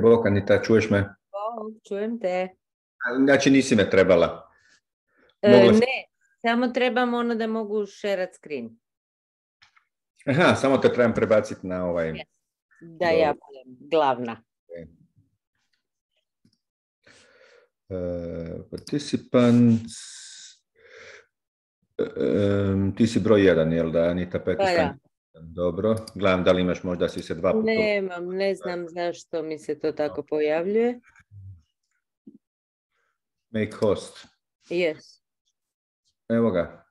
Bok, Anita, čuješ me? O, čujem te. Znači nisi me trebala. Mogla sam... Ne, samo trebam ono da mogu share screen. Aha, samo te trebam prebaciti na ovaj... Yes. Da ja budem glavna. Participants... ti si broj 1, jel da, Anita Pekić? Da. Dobro. Gledam da li imaš, možda si se 2 puta... Nemam, ne znam zašto mi se to tako pojavljuje. Make host. Yes. Evo ga.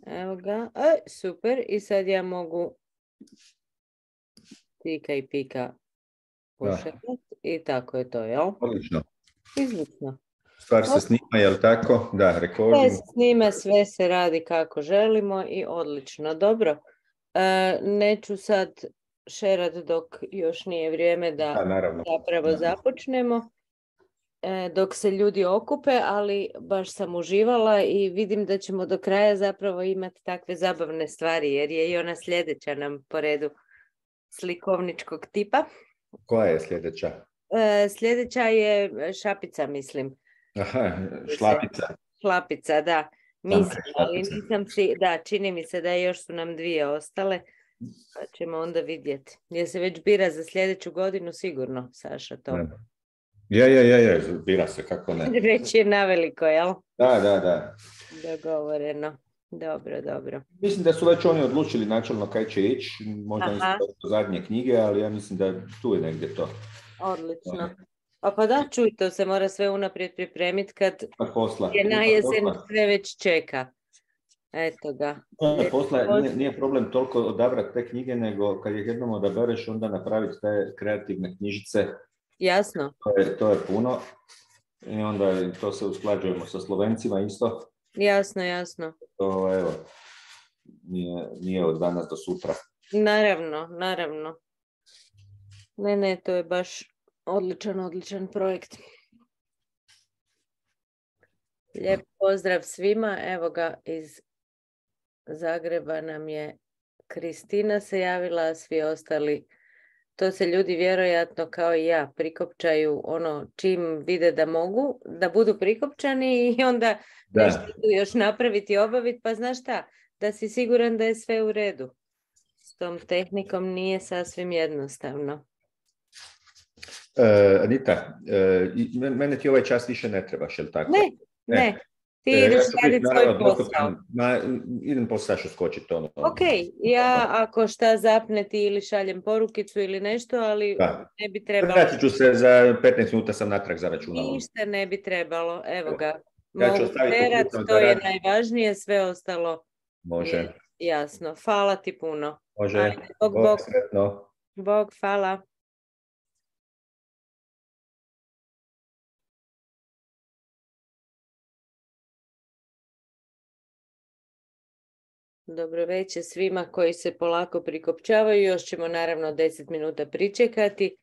Evo ga. Super. I sad ja mogu tika i pika pošetati. I tako je to, jel? Odlično. Izlično. Stvar se snima, jel tako? Da, recording. Sve se snima, sve se radi kako želimo i odlično. Dobro. Neću sad šerat dok još nije vrijeme da zapravo započnemo. Dok se ljudi okupe, ali baš sam uživala i vidim da ćemo do kraja zapravo imati takve zabavne stvari, jer je i ona sljedeća nam po redu slikovničkog tipa. Koja je sljedeća? Sljedeća je šapica, mislim. Aha, šlapica. Šlapica, da. Mislim, ali nisam da, čini mi se da još su nam 2 ostale, pa ćemo onda vidjeti. Je se već bira za sljedeću godinu sigurno, Saša, to? Ne. Je, bira se, kako ne. Već je naveliko, jel? Da. Dogovoreno. Dobro. Mislim da su već oni odlučili načelno kaj će ići, možda nisu do zadnje knjige, ali ja mislim da tu je negdje to. Odlično. Pa da, čuj, to se mora sve unaprijed pripremiti kad je na jesen sve već čeka. Eto ga. Posla nije problem toliko odabrati te knjige, nego kad ih jednom odabereš, onda napraviti te kreativne knjižice. Jasno. To je puno. I onda to se usklađujemo sa Slovencima isto. Jasno. To, evo, nije od danas do sutra. Naravno. Ne, to je baš odličan projekt. Lijep pozdrav svima. Evo ga, iz Zagreba nam je Kristina se javila, a svi ostali, to se ljudi vjerojatno kao i ja prikopčaju čim vide da mogu, da budu prikopčani i onda nešto još napraviti i obaviti, pa znaš šta, da si siguran da je sve u redu. S tom tehnikom nije sasvim jednostavno. Anita, mene ti ovaj čas više ne trebaš, jel tako? Ne. Ti ideš raditi svoj posao. Idem po Sašu skočiti. Ok, ja ako šta zapne ti ili šaljem porukicu ili nešto, ali ne bi trebalo. Vratit ću se za 15 minuta, sam natrag za računalom. Ništa ne bi trebalo, evo ga. Mogu terat, to je najvažnije, sve ostalo je jasno. Hvala ti puno. Može, Bog. Sretno. Bog, hvala. Dobro večer svima koji se polako prikopčavaju. Još ćemo naravno 10 minuta pričekati,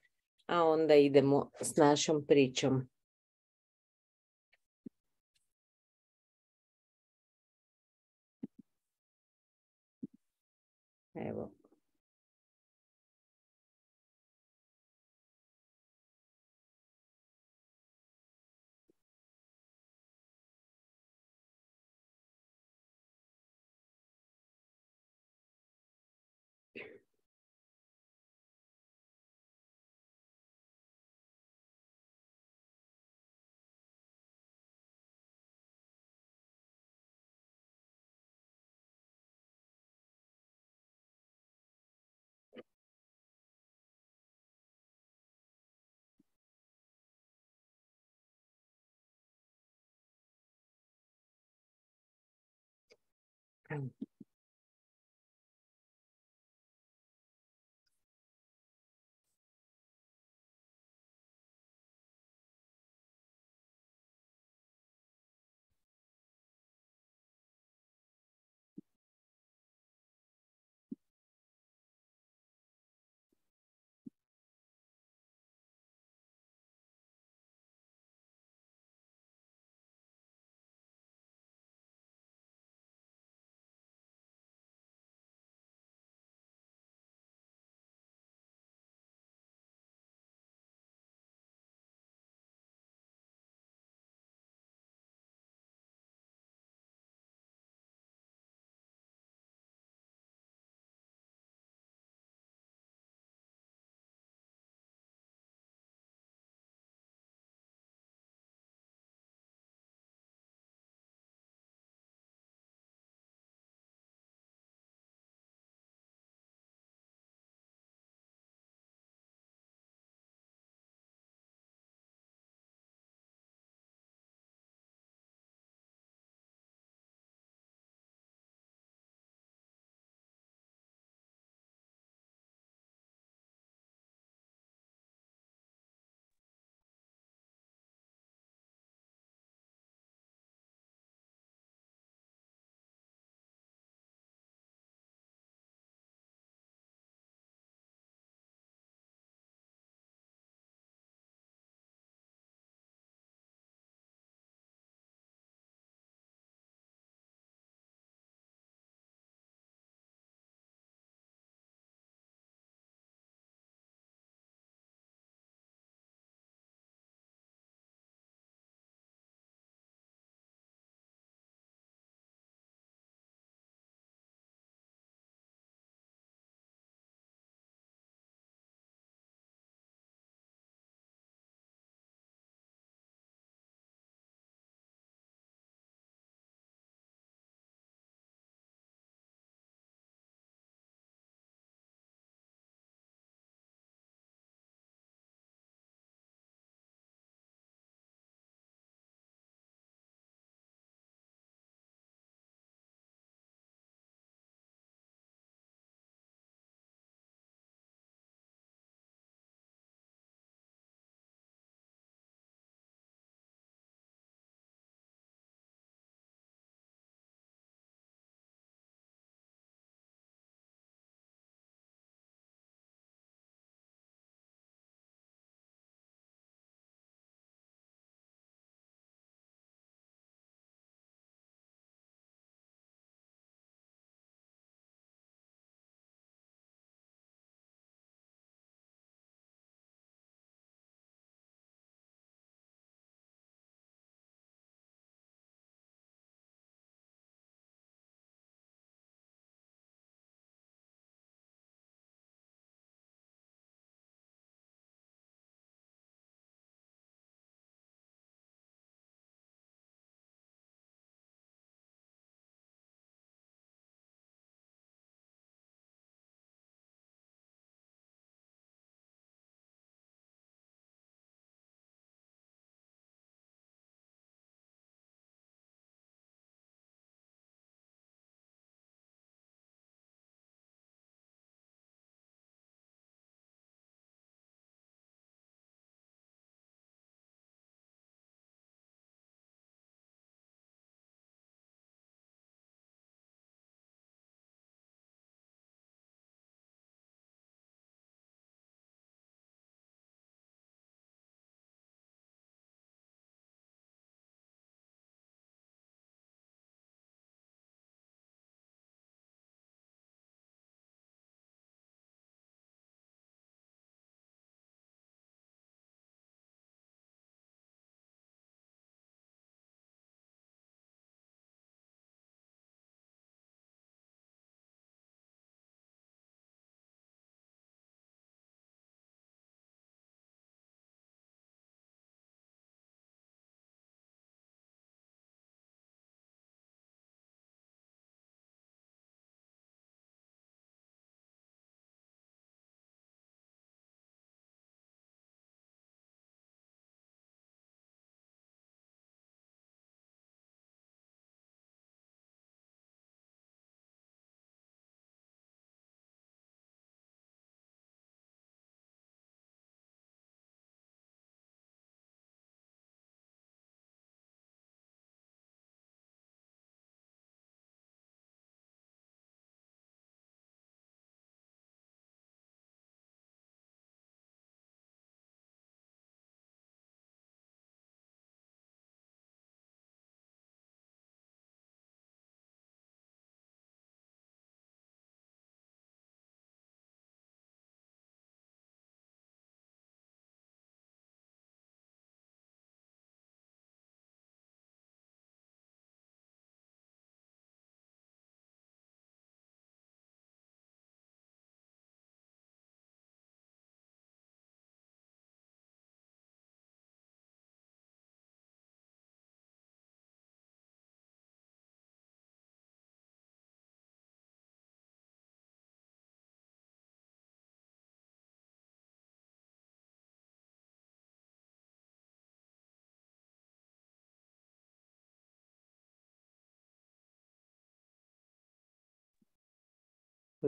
a onda idemo s našom pričom. Evo.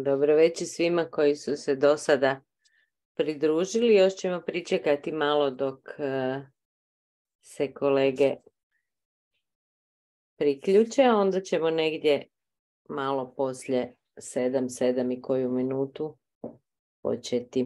Dobro večer svima koji su se do sada pridružili. Još ćemo pričekati malo dok se kolege priključe, a onda ćemo negdje malo poslije 7 i koju minutu početi.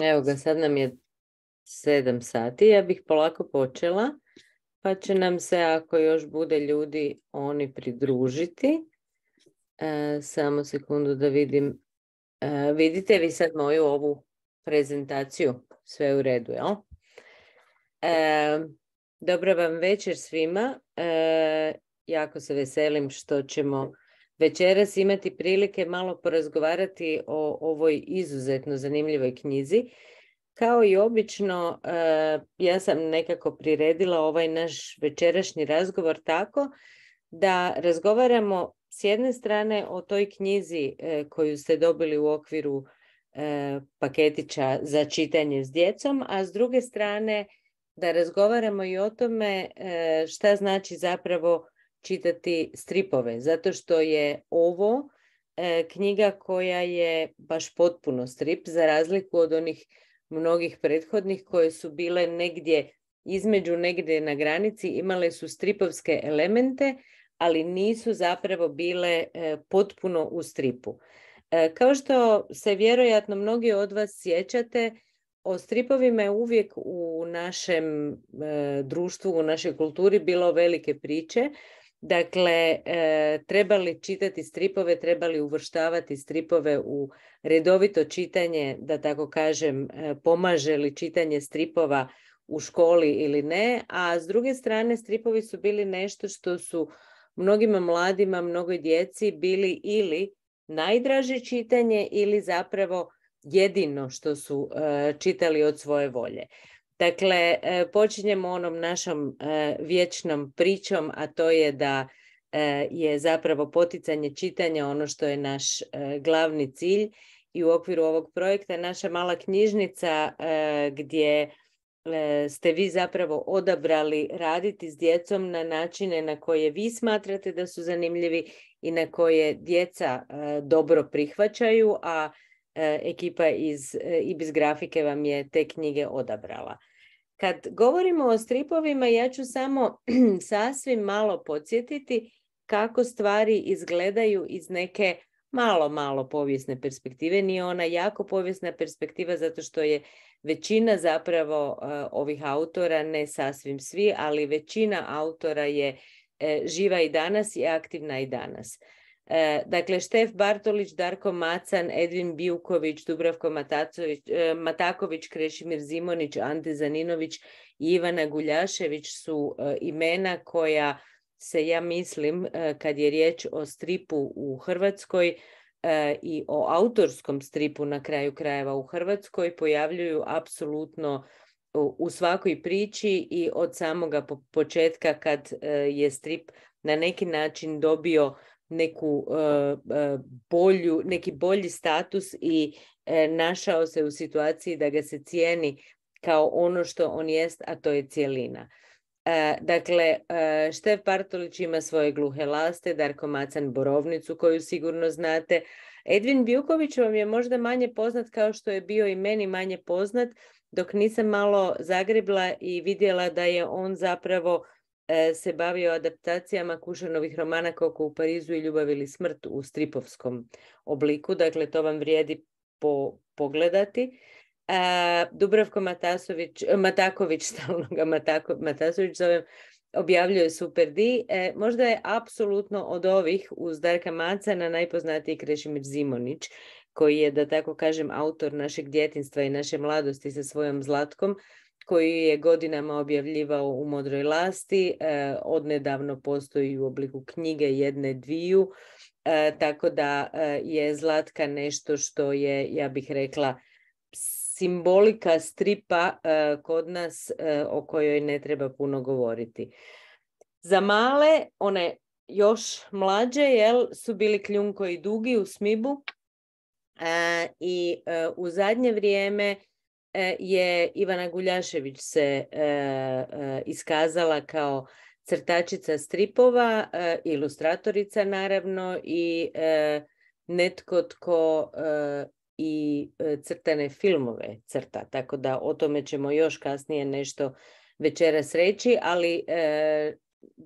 Evo ga, sad nam je 7 sati. Ja bih polako počela, pa će nam se, ako još bude ljudi, oni pridružiti. Samo sekundu da vidim. Vidite vi sad moju ovu prezentaciju? Sve u redu, jel? Dobro vam večer svima. Jako se veselim što ćemo večeras imati prilike malo porazgovarati o ovoj izuzetno zanimljivoj knjizi. Kao i obično, ja sam nekako priredila ovaj naš večerašnji razgovor tako da razgovaramo s jedne strane o toj knjizi koju ste dobili u okviru paketića za čitanje s djecom, a s druge strane da razgovaramo i o tome šta znači zapravo čitati stripove, zato što je ovo knjiga koja je baš potpuno strip, za razliku od onih mnogih prethodnih koje su bile negdje između, negdje na granici, imale su stripovske elemente, ali nisu zapravo bile potpuno u stripu. Kao što se vjerojatno mnogi od vas sjećate, o stripovima je uvijek u našem društvu, u našoj kulturi bilo velike priče. Dakle, trebali čitati stripove, trebali uvrštavati stripove u redovito čitanje, da tako kažem, pomaže li čitanje stripova u školi ili ne, a s druge strane stripovi su bili nešto što su mnogima mladima, mnogoj djeci bili ili najdraže čitanje ili zapravo jedino što su čitali od svoje volje. Dakle, počinjemo onom našom vječnom pričom, a to je da je zapravo poticanje čitanja ono što je naš glavni cilj i u okviru ovog projekta naša mala knjižnica gdje ste vi zapravo odabrali raditi s djecom na načine na koje vi smatrate da su zanimljivi i na koje djeca dobro prihvaćaju, a ekipa iz IBIS grafike vam je te knjige odabrala. Kad govorimo o stripovima, ja ću samo sasvim malo podsjetiti kako stvari izgledaju iz neke malo povijesne perspektive. Nije ona jako povijesna perspektiva zato što je većina zapravo ovih autora, ne sasvim svi, ali većina autora je živa i danas i aktivna i danas. Dakle, Štef Bartolić, Darko Macan, Edvin Bijuković, Dubravko Mataković, Krešimir Zimonić, Ante Zaninović i Ivana Guljašević su imena koja se, ja mislim, kad je riječ o stripu u Hrvatskoj i o autorskom stripu na kraju krajeva u Hrvatskoj, pojavljuju apsolutno u svakoj priči i od samoga početka kad je strip na neki način dobio neki bolji status i našao se u situaciji da ga se cijeni kao ono što on jest, a to je cjelina. Dakle, Štef Bartolić ima svoje Gluhe laste, Darko Macan Borovnicu koju sigurno znate. Edvin Bijuković vam je možda manje poznat kao što je bio i meni manje poznat, dok nisam malo zagrebla i vidjela da je on zapravo se bavio adaptacijama Kušanovih romana Koko u Parizu i Ljubav ili smrt u stripovskom obliku. Dakle, to vam vrijedi pogledati. Dubravko Mataković, stalno ga Matasović zovem, objavljuje Super D. Možda je apsolutno od ovih uz Darka Macana najpoznatiji Krešimir Zimonić, koji je, da tako kažem, autor našeg djetinjstva i naše mladosti sa svojom Zlatkom, koji je godinama objavljivao u Modroj lasti, odnedavno postoji u obliku knjige jedne dviju, tako da je Zlatka nešto što je, ja bih rekla, simbolika stripa kod nas o kojoj ne treba puno govoriti. Za male, one još mlađe, su bili Kljunko i Dugi u Smibu i u zadnje vrijeme je Ivana Guljašević se iskazala kao crtačica stripova, ilustratorica naravno i netko tko i crtane filmove crta, tako da o tome ćemo još kasnije nešto večeras reći, ali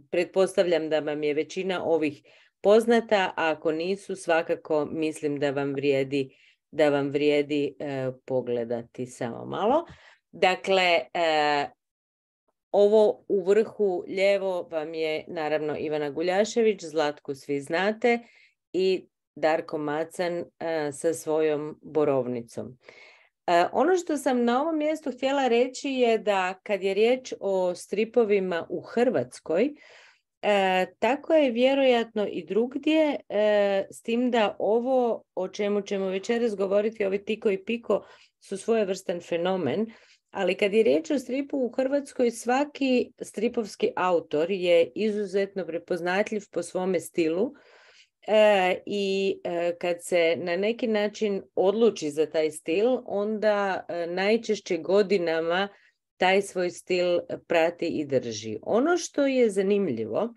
pretpostavljam da vam je većina ovih poznata, a ako nisu, svakako mislim da vam vrijedi pogledati samo malo. Dakle, ovo u vrhu lijevo vam je naravno Ivana Guljašević, Zlatku svi znate, i Darko Macan sa svojom Borovnicom. Ono što sam na ovom mjestu htjela reći je da kad je riječ o stripovima u Hrvatskoj, tako je vjerojatno i drugdje, s tim da ovo o čemu ćemo večeras govoriti, ovi Tiko i Piko, su svojevrstan fenomen, ali kad je riječ o stripu u Hrvatskoj, svaki stripovski autor je izuzetno prepoznatljiv po svome stilu i kad se na neki način odluči za taj stil, onda najčešće godinama taj svoj stil prati i drži. Ono što je zanimljivo,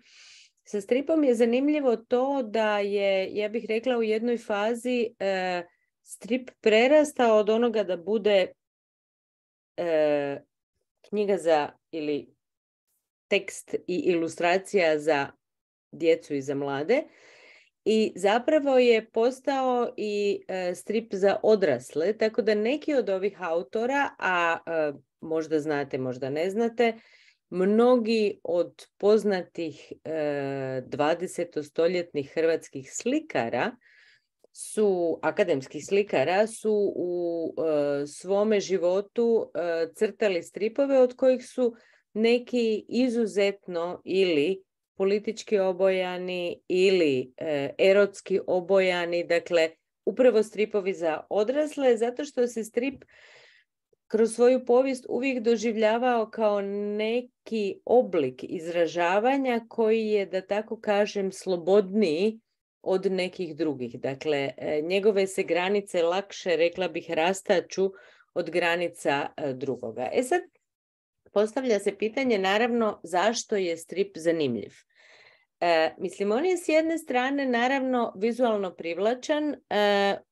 sa stripom je zanimljivo to da je, ja bih rekla, u jednoj fazi strip prerastao od onoga da bude knjiga za ili tekst i ilustracija za djecu i za mlade, i zapravo je postao i strip za odrasle, tako da neki od ovih autora, a možda znate, možda ne znate, mnogi od poznatih 20-stoljetnih hrvatskih slikara akademskih slikara su u svome životu crtali stripove od kojih su neki izuzetno ili politički obojani ili erotski obojani, dakle upravo stripovi za odrasle, zato što se strip kroz svoju povijest uvijek doživljavao kao neki oblik izražavanja koji je, da tako kažem, slobodniji od nekih drugih. Dakle, njegove se granice lakše, rekla bih, rastaču od granica drugoga. Sad, postavlja se pitanje naravno zašto je strip zanimljiv. Mislim, on je s jedne strane naravno vizualno privlačan,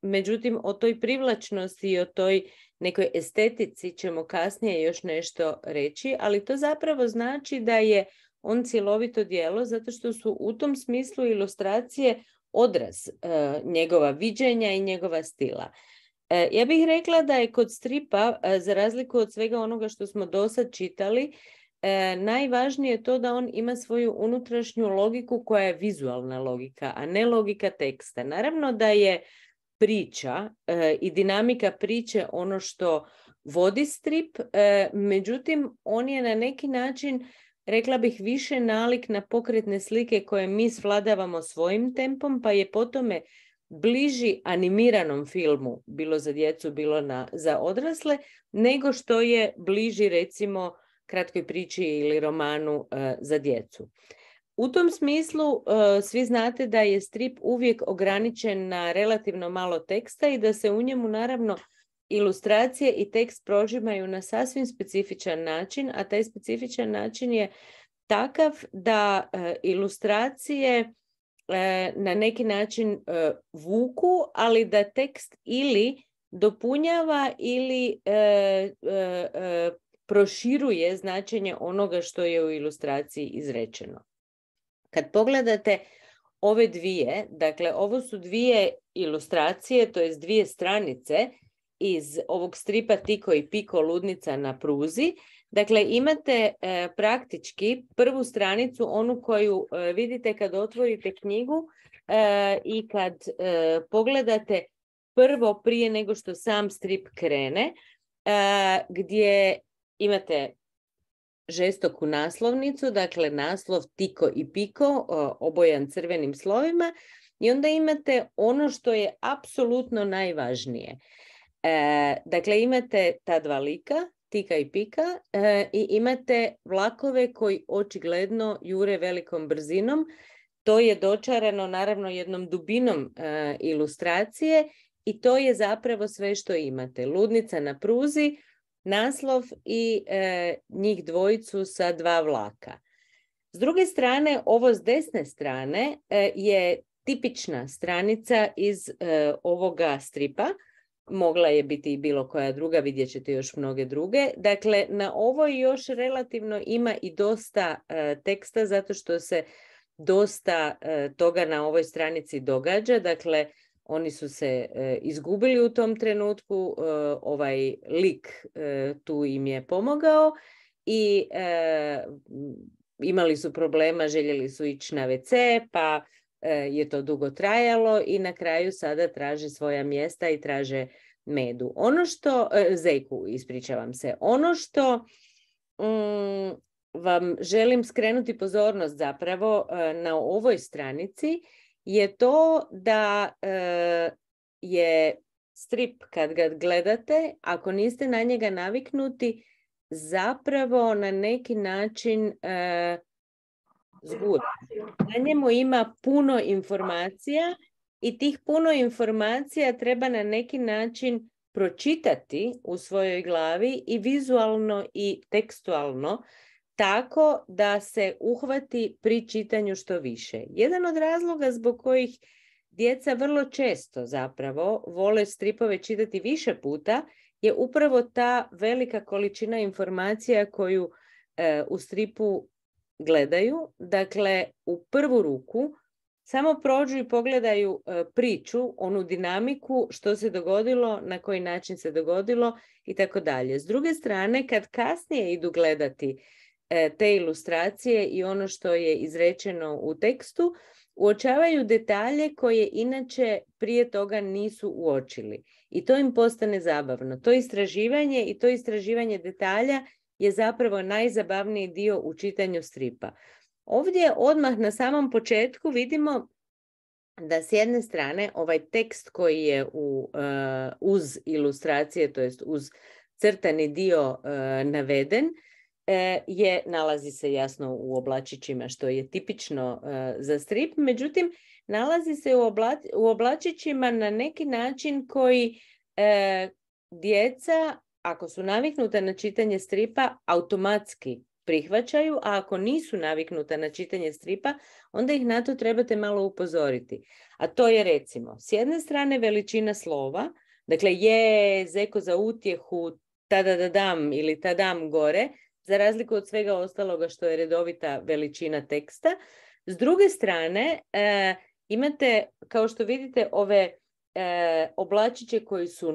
međutim o toj privlačnosti i o toj nekoj estetici ćemo kasnije još nešto reći, ali to zapravo znači da je on cjelovito djelo zato što su u tom smislu ilustracije odraz njegova viđenja i njegova stila. Ja bih rekla da je kod stripa, za razliku od svega onoga što smo dosad čitali, najvažnije to da on ima svoju unutrašnju logiku koja je vizualna logika, a ne logika teksta. Naravno da je priča i dinamika priče ono što vodi strip, međutim on je na neki način, rekla bih, više nalik na pokretne slike koje mi svladavamo svojim tempom, pa je po tome bliži animiranom filmu, bilo za djecu, bilo za odrasle, nego što je bliži recimo kratkoj priči ili romanu za djecu. U tom smislu svi znate da je strip uvijek ograničen na relativno malo teksta i da se u njemu naravno ilustracije i tekst prožimaju na sasvim specifičan način, a taj specifičan način je takav da ilustracije na neki način vuku, ali da tekst ili dopunjava ili proširuje značenje onoga što je u ilustraciji izrečeno. Kad pogledate ove dvije, dakle ovo su dvije ilustracije, to jest dvije stranice iz ovog stripa Tiko i Piko, ludnica na pruzi. Dakle, imate praktički prvu stranicu, onu koju vidite kad otvorite knjigu i kad pogledate prvo prije nego što sam strip krene, gdje imate žestoku naslovnicu, dakle naslov Tiko i Piko, obojan crvenim slovima, i onda imate ono što je apsolutno najvažnije. Dakle, imate ta dva lika, Tika i Pika, i imate vlakove koji očigledno jure velikom brzinom. To je dočarano naravno jednom dubinom ilustracije i to je zapravo sve što imate. Ludnica na pruzi, naslov i njih dvojicu sa dva vlaka. S druge strane, ovo s desne strane je tipična stranica iz ovoga stripa. Mogla je biti i bilo koja druga, vidjet ćete još mnoge druge. Dakle, na ovoj još relativno ima i dosta teksta, zato što se dosta toga na ovoj stranici događa. Dakle, oni su se izgubili u tom trenutku, ovaj lik tu im je pomogao i imali su problema, željeli su ići na WC, pa je to dugo trajalo i na kraju sada traže svoja mjesta i traže medu. Ono što, zejku, ispričavam se, ono što vam želim skrenuti pozornost zapravo na ovoj stranici je to da je strip, kad ga gledate, ako niste na njega naviknuti, zapravo na neki način zgudan. Na njemu ima puno informacija i tih puno informacija treba na neki način pročitati u svojoj glavi i vizualno i tekstualno, tako da se uhvati pri čitanju što više. Jedan od razloga zbog kojih djeca vrlo često zapravo vole stripove čitati više puta je upravo ta velika količina informacija koju u stripu gledaju. Dakle, u prvu ruku samo prođu i pogledaju priču, onu dinamiku, što se dogodilo, na koji način se dogodilo i tako dalje. S druge strane, kad kasnije idu gledati te ilustracije i ono što je izrečeno u tekstu, uočavaju detalje koje inače prije toga nisu uočili. I to im postane zabavno. To istraživanje i to istraživanje detalja je zapravo najzabavniji dio u čitanju stripa. Ovdje odmah na samom početku vidimo da s jedne strane ovaj tekst koji je uz ilustracije, to jest uz crtani dio naveden, nalazi se jasno u oblačićima, što je tipično za strip, međutim nalazi se u oblačićima na neki način koji djeca ako su naviknuta na čitanje stripa, automatski prihvaćaju, a ako nisu naviknuta na čitanje stripa, onda ih na to trebate malo upozoriti. A to je recimo, s jedne strane veličina slova, dakle je, zeko za utjehu, tadadadam ili tadam gore, za razliku od svega ostaloga što je redovita veličina teksta. S druge strane, imate, kao što vidite, ove oblačiće koji su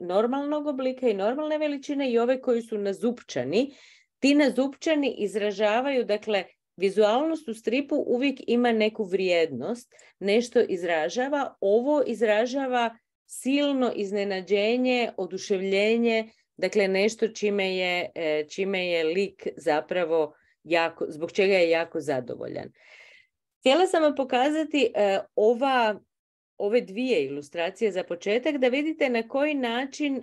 normalnog oblika i normalne veličine i ove koji su nazupčani. Ti nazupčani izražavaju, dakle, vizualnost u stripu uvijek ima neku vrijednost, nešto izražava. Ovo izražava silno iznenađenje, oduševljenje, dakle nešto čime je lik zapravo jako, zbog čega je jako zadovoljan. Htjela sam vam pokazati ove dvije ilustracije za početak, da vidite na koji način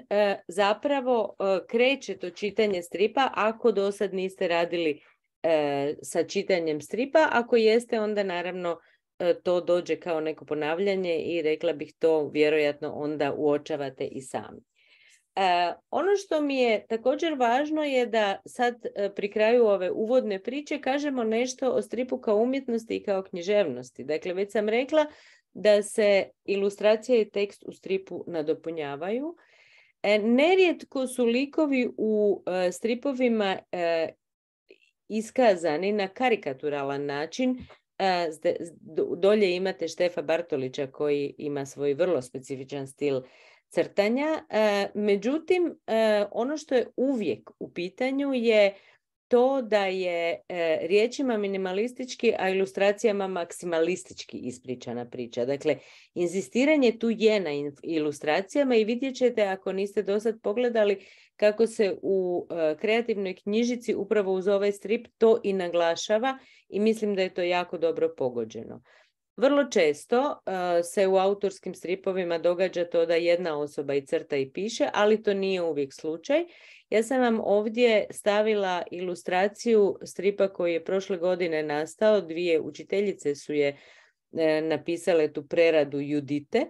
zapravo kreće to čitanje stripa ako do sad niste radili sa čitanjem stripa. Ako jeste, onda naravno to dođe kao neko ponavljanje i rekla bih to vjerojatno onda uočavate i sami. Ono što mi je također važno je da sad pri kraju ove uvodne priče kažemo nešto o stripu kao umjetnosti i kao književnosti. Dakle, već sam rekla da se ilustracija i tekst u stripu nadopunjavaju. Nerijetko su likovi u stripovima iskazani na karikaturalan način. Dolje imate Štefa Bartolića koji ima svoj vrlo specifičan stil crtanja. Međutim, ono što je uvijek u pitanju je to da je riječima minimalistički, a ilustracijama maksimalistički ispričana priča. Dakle, inzistiranje tu je na ilustracijama i vidjet ćete, ako niste do sad pogledali, kako se u kreativnoj knjižici upravo uz ovaj strip to i naglašava i mislim da je to jako dobro pogođeno. Vrlo često se u autorskim stripovima događa to da jedna osoba i crta i piše, ali to nije uvijek slučaj. Ja sam vam ovdje stavila ilustraciju stripa koji je prošle godine nastao. Dvije učiteljice su je napisale tu preradu Judite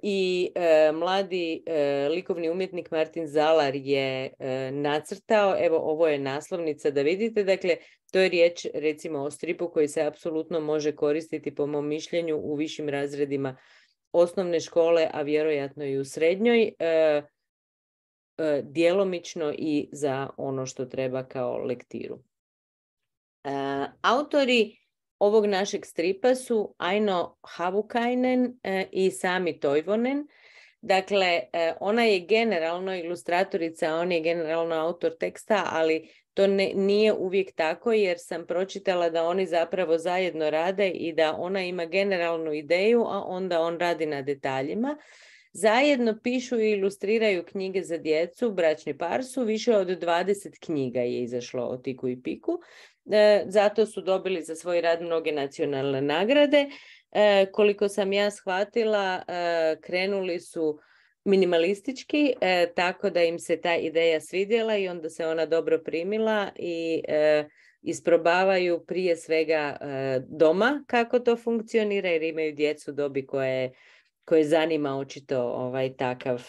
i mladi likovni umjetnik Martin Zalar je nacrtao. Evo, ovo je naslovnica da vidite. Dakle, to je riječ recimo o stripu koji se apsolutno može koristiti po mom mišljenju u višim razredima osnovne škole, a vjerojatno i u srednjoj, djelomično i za ono što treba kao lektiru. Autori ovog našeg stripa su Aino Havukainen i Sami Toivonen. Dakle, ona je generalno ilustratorica, on je generalno autor teksta, ali to nije uvijek tako, jer sam pročitala da oni zapravo zajedno rade i da ona ima generalnu ideju, a onda on radi na detaljima. Zajedno pišu i ilustriraju knjige za djecu, bračni par su, više od 20 knjiga je izašlo o Tiku i Piku. Zato su dobili za svoj rad mnoge nacionalne nagrade. Koliko sam ja shvatila, krenuli su minimalistički, tako da im se ta ideja svidjela i onda se ona dobro primila i isprobavaju prije svega doma kako to funkcionira, jer imaju djecu dobi koje zanima očito takav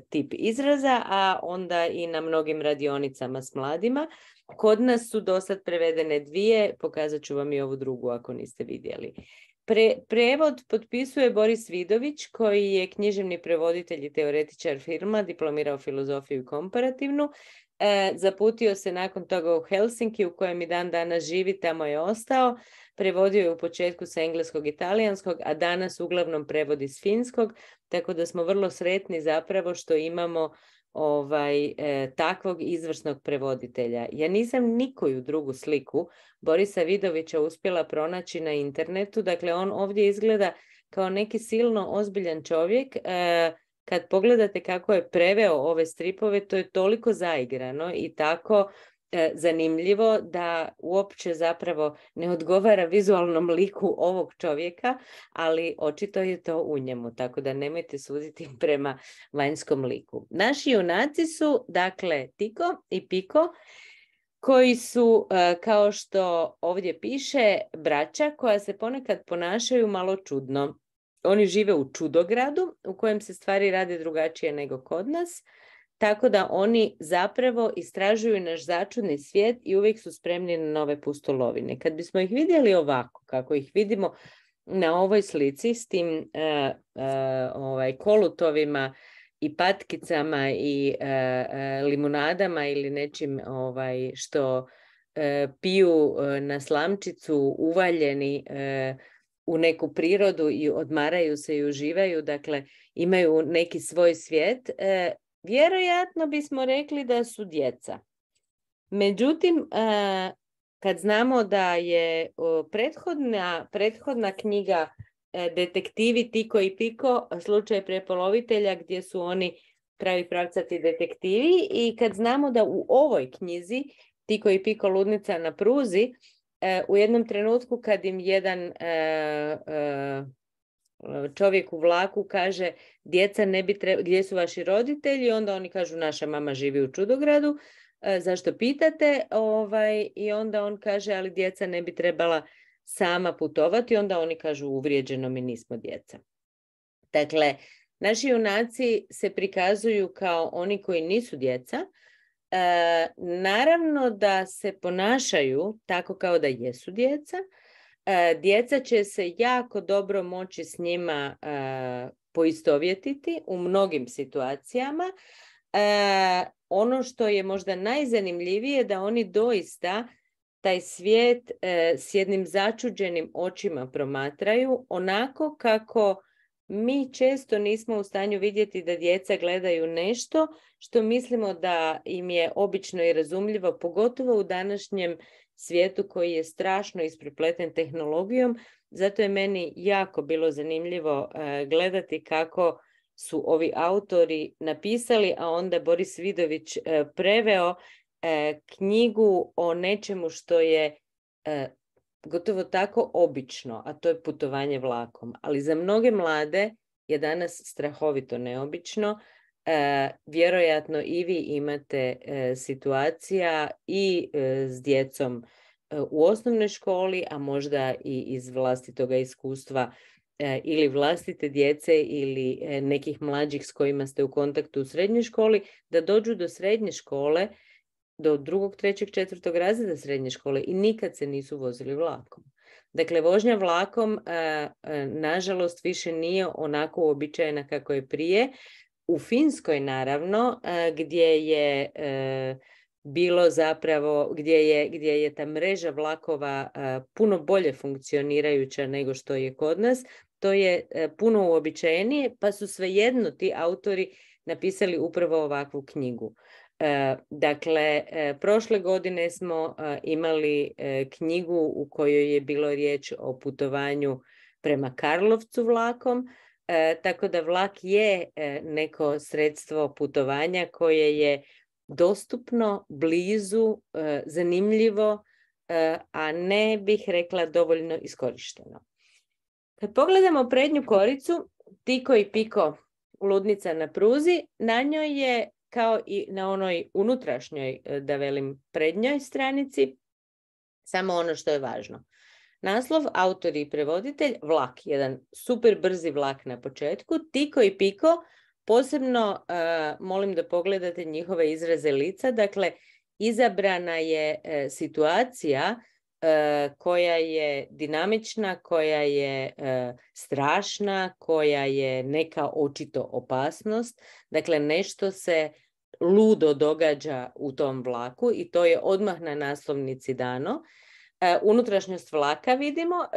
tip izraza, a onda i na mnogim radionicama s mladima. Kod nas su dosad prevedene dvije, pokazat ću vam i ovu drugu ako niste vidjeli. Prevod potpisuje Boris Vidović, koji je književni prevoditelj i teoretičar filma, diplomirao filozofiju i komparativnu. Zaputio se nakon toga u Helsinki, u kojem i dan danas živi, tamo je ostao. Prevodio je u početku sa engleskog i talijanskog, a danas uglavnom prevodi s finskog, tako da smo vrlo sretni zapravo što imamo takvog izvrsnog prevoditelja. Ja nisam nikoju drugu sliku Borisa Vidovića uspjela pronaći na internetu, dakle on ovdje izgleda kao neki silno ozbiljan čovjek. Kad pogledate kako je preveo ove stripove, to je toliko zaigrano i tako zanimljivo da uopće zapravo ne odgovara vizualnom liku ovog čovjeka, ali očito je to u njemu, tako da nemojte suditi prema vanjskom liku. Naši junaci su, dakle, Tiko i Piko, koji su, kao što ovdje piše, braća koja se ponekad ponašaju malo čudno. oni žive u čudogradu u kojem se stvari rade drugačije nego kod nas, tako da oni zapravo istražuju naš začudni svijet i uvijek su spremni na nove pustolovine. Kad bismo ih vidjeli ovako, kako ih vidimo na ovoj slici s tim kolutovima i patkicama i limunadama ili nečim što piju na slamčicu, uvaljeni u neku prirodu i odmaraju se i uživaju, dakle imaju neki svoj svijet, vjerojatno bismo rekli da su djeca. Međutim, kad znamo da je prethodna knjiga Detektivi Tiko i Piko, slučaj prepolovitelja, gdje su oni pravi pravcati detektivi, i kad znamo da u ovoj knjizi Tiko i Piko ludnica na pruzi, u jednom trenutku kad im jedan čovjek u vlaku kaže djeca ne bi gdje su vaši roditelji, onda oni kažu naša mama živi u čudogradu, zašto pitate? I onda on kaže ali djeca ne bi trebala sama putovati, onda oni kažu uvrijeđeno, mi nismo djeca. Dakle, naši junaci se prikazuju kao oni koji nisu djeca. Naravno da se ponašaju tako kao da jesu djeca. Djeca će se jako dobro moći s njima poistovjetiti u mnogim situacijama. Ono što je možda najzanimljivije da oni doista taj svijet s jednim začuđenim očima promatraju, onako kako mi često nismo u stanju vidjeti da djeca gledaju nešto što mislimo da im je obično i razumljivo, pogotovo u današnjem svijetu koji je strašno isprepleten tehnologijom. Zato je meni jako bilo zanimljivo gledati kako su ovi autori napisali, a onda Boris Vidović preveo knjigu o nečemu što je gotovo tako obično, a to je putovanje vlakom. Ali za mnoge mlade je danas strahovito neobično. Vjerojatno i vi imate situacija i s djecom u osnovnoj školi, a možda i iz vlastitoga iskustva ili vlastite djece ili nekih mlađih s kojima ste u kontaktu u srednjoj školi, da dođu do srednje škole, do 2., 3., 4. razreda srednje škole i nikad se nisu vozili vlakom. Dakle, vožnja vlakom nažalost više nije onako uobičajena kako je prije. U Finskoj naravno, gdje je bilo zapravo, gdje je ta mreža vlakova puno bolje funkcionirajuća nego što je kod nas, to je puno uobičajenije, pa su svejedno ti autori napisali upravo ovakvu knjigu. Dakle, prošle godine smo imali knjigu u kojoj je bilo riječ o putovanju prema Karlovcu vlakom, tako da vlak je neko sredstvo putovanja koje je dostupno, blizu, zanimljivo, a ne bih rekla dovoljno iskorišteno. Kad pogledamo prednju koricu, Tiko i Piko ludnica na pruzi, na njoj je kao i na onoj unutrašnjoj, da velim, prednjoj stranici, samo ono što je važno. Naslov, autor i prevoditelj, vlak, jedan super brzi vlak na početku. Tiko i Piko, posebno molim da pogledate njihove izraze lica, dakle, izabrana je situacija koja je dinamična, koja je strašna, koja je neka očito opasnost. Dakle, nešto se ludo događa u tom vlaku i to je odmah na naslovnici dano. Unutrašnjost vlaka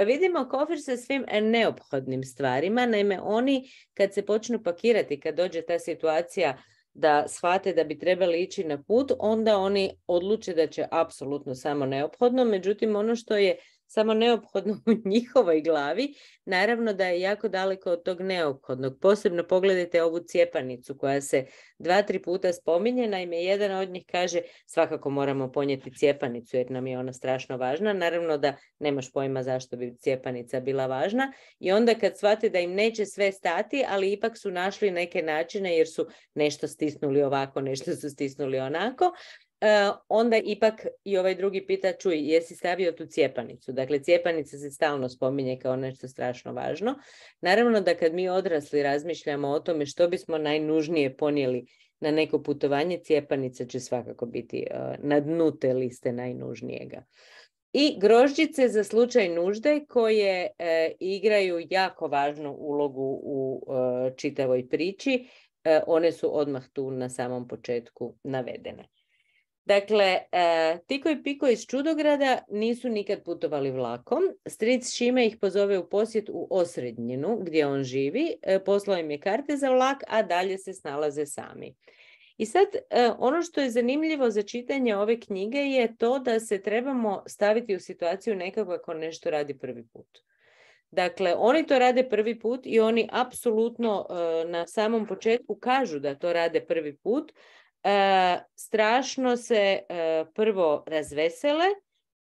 vidimo kofer sa svim neophodnim stvarima. Naime, oni kad se počnu pakirati, kad dođe ta situacija da shvate da bi trebali ići na put, onda oni odluče da će apsolutno samo neophodno. Međutim, ono što je samo neophodno u njihovoj glavi, naravno da je jako daleko od tog neophodnog. Posebno pogledajte ovu cijepanicu koja se 2-3 puta spominje. Naime, jedan od njih kaže svakako moramo ponijeti cijepanicu jer nam je ona strašno važna. Naravno da nemaš pojma zašto bi cijepanica bila važna. I onda kad shvate da im neće sve stati, ali ipak su našli neke načine jer su nešto stisnuli ovako, nešto su stisnuli onako, onda ipak i ovaj drugi pita, čuj, jesi stavio tu cijepanicu? Dakle, cijepanica se stalno spominje kao nešto strašno važno. Naravno da kad mi odrasli razmišljamo o tome što bismo najnužnije ponijeli na neko putovanje, cijepanica će svakako biti na dnu te liste najnužnijega. I grožđice za slučaj nužde koje igraju jako važnu ulogu u čitavoj priči. One su odmah tu na samom početku navedene. Dakle, Tiko i Piko iz Čudograda nisu nikad putovali vlakom. Stric Šime ih pozove u posjet u Osrednjinu gdje on živi. Poslao im je karte za vlak, a dalje se snalaze sami. I sad, ono što je zanimljivo za čitanje ove knjige je to da se trebamo staviti u situaciju nekako ako nešto radi prvi put. Dakle, oni to rade prvi put i oni apsolutno na samom početku kažu da to rade prvi put. Strašno se prvo razvesele,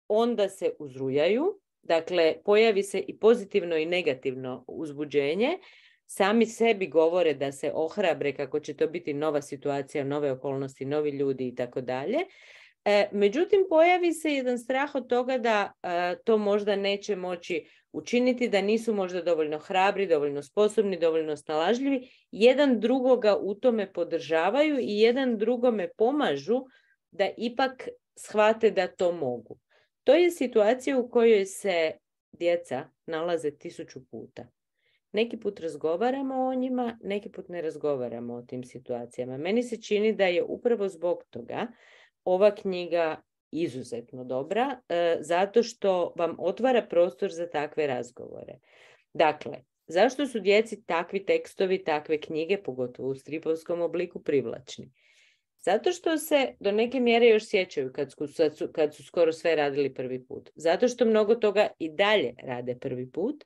onda se uzrujaju, dakle pojavi se i pozitivno i negativno uzbuđenje, sami sebi govore da se ohrabre kako će to biti nova situacija, nove okolnosti, novi ljudi i tako dalje. Međutim, pojavi se jedan strah od toga da to možda neće moći učiniti, da nisu možda dovoljno hrabri, dovoljno sposobni, dovoljno snalažljivi. Jedan drugoga u tome podržavaju i jedan drugome pomažu da ipak shvate da to mogu. To je situacija u kojoj se djeca nalaze 1000 puta. Neki put razgovaramo o njima, neki put ne razgovaramo o tim situacijama. Meni se čini da je upravo zbog toga ova knjiga izuzetno dobra, zato što vam otvara prostor za takve razgovore. Dakle, zašto su djeci takvi tekstovi, takve knjige, pogotovo u stripovskom obliku, privlačni? Zato što se do neke mjere još sjećaju kad su skoro sve radili prvi put. Zato što mnogo toga i dalje rade prvi put.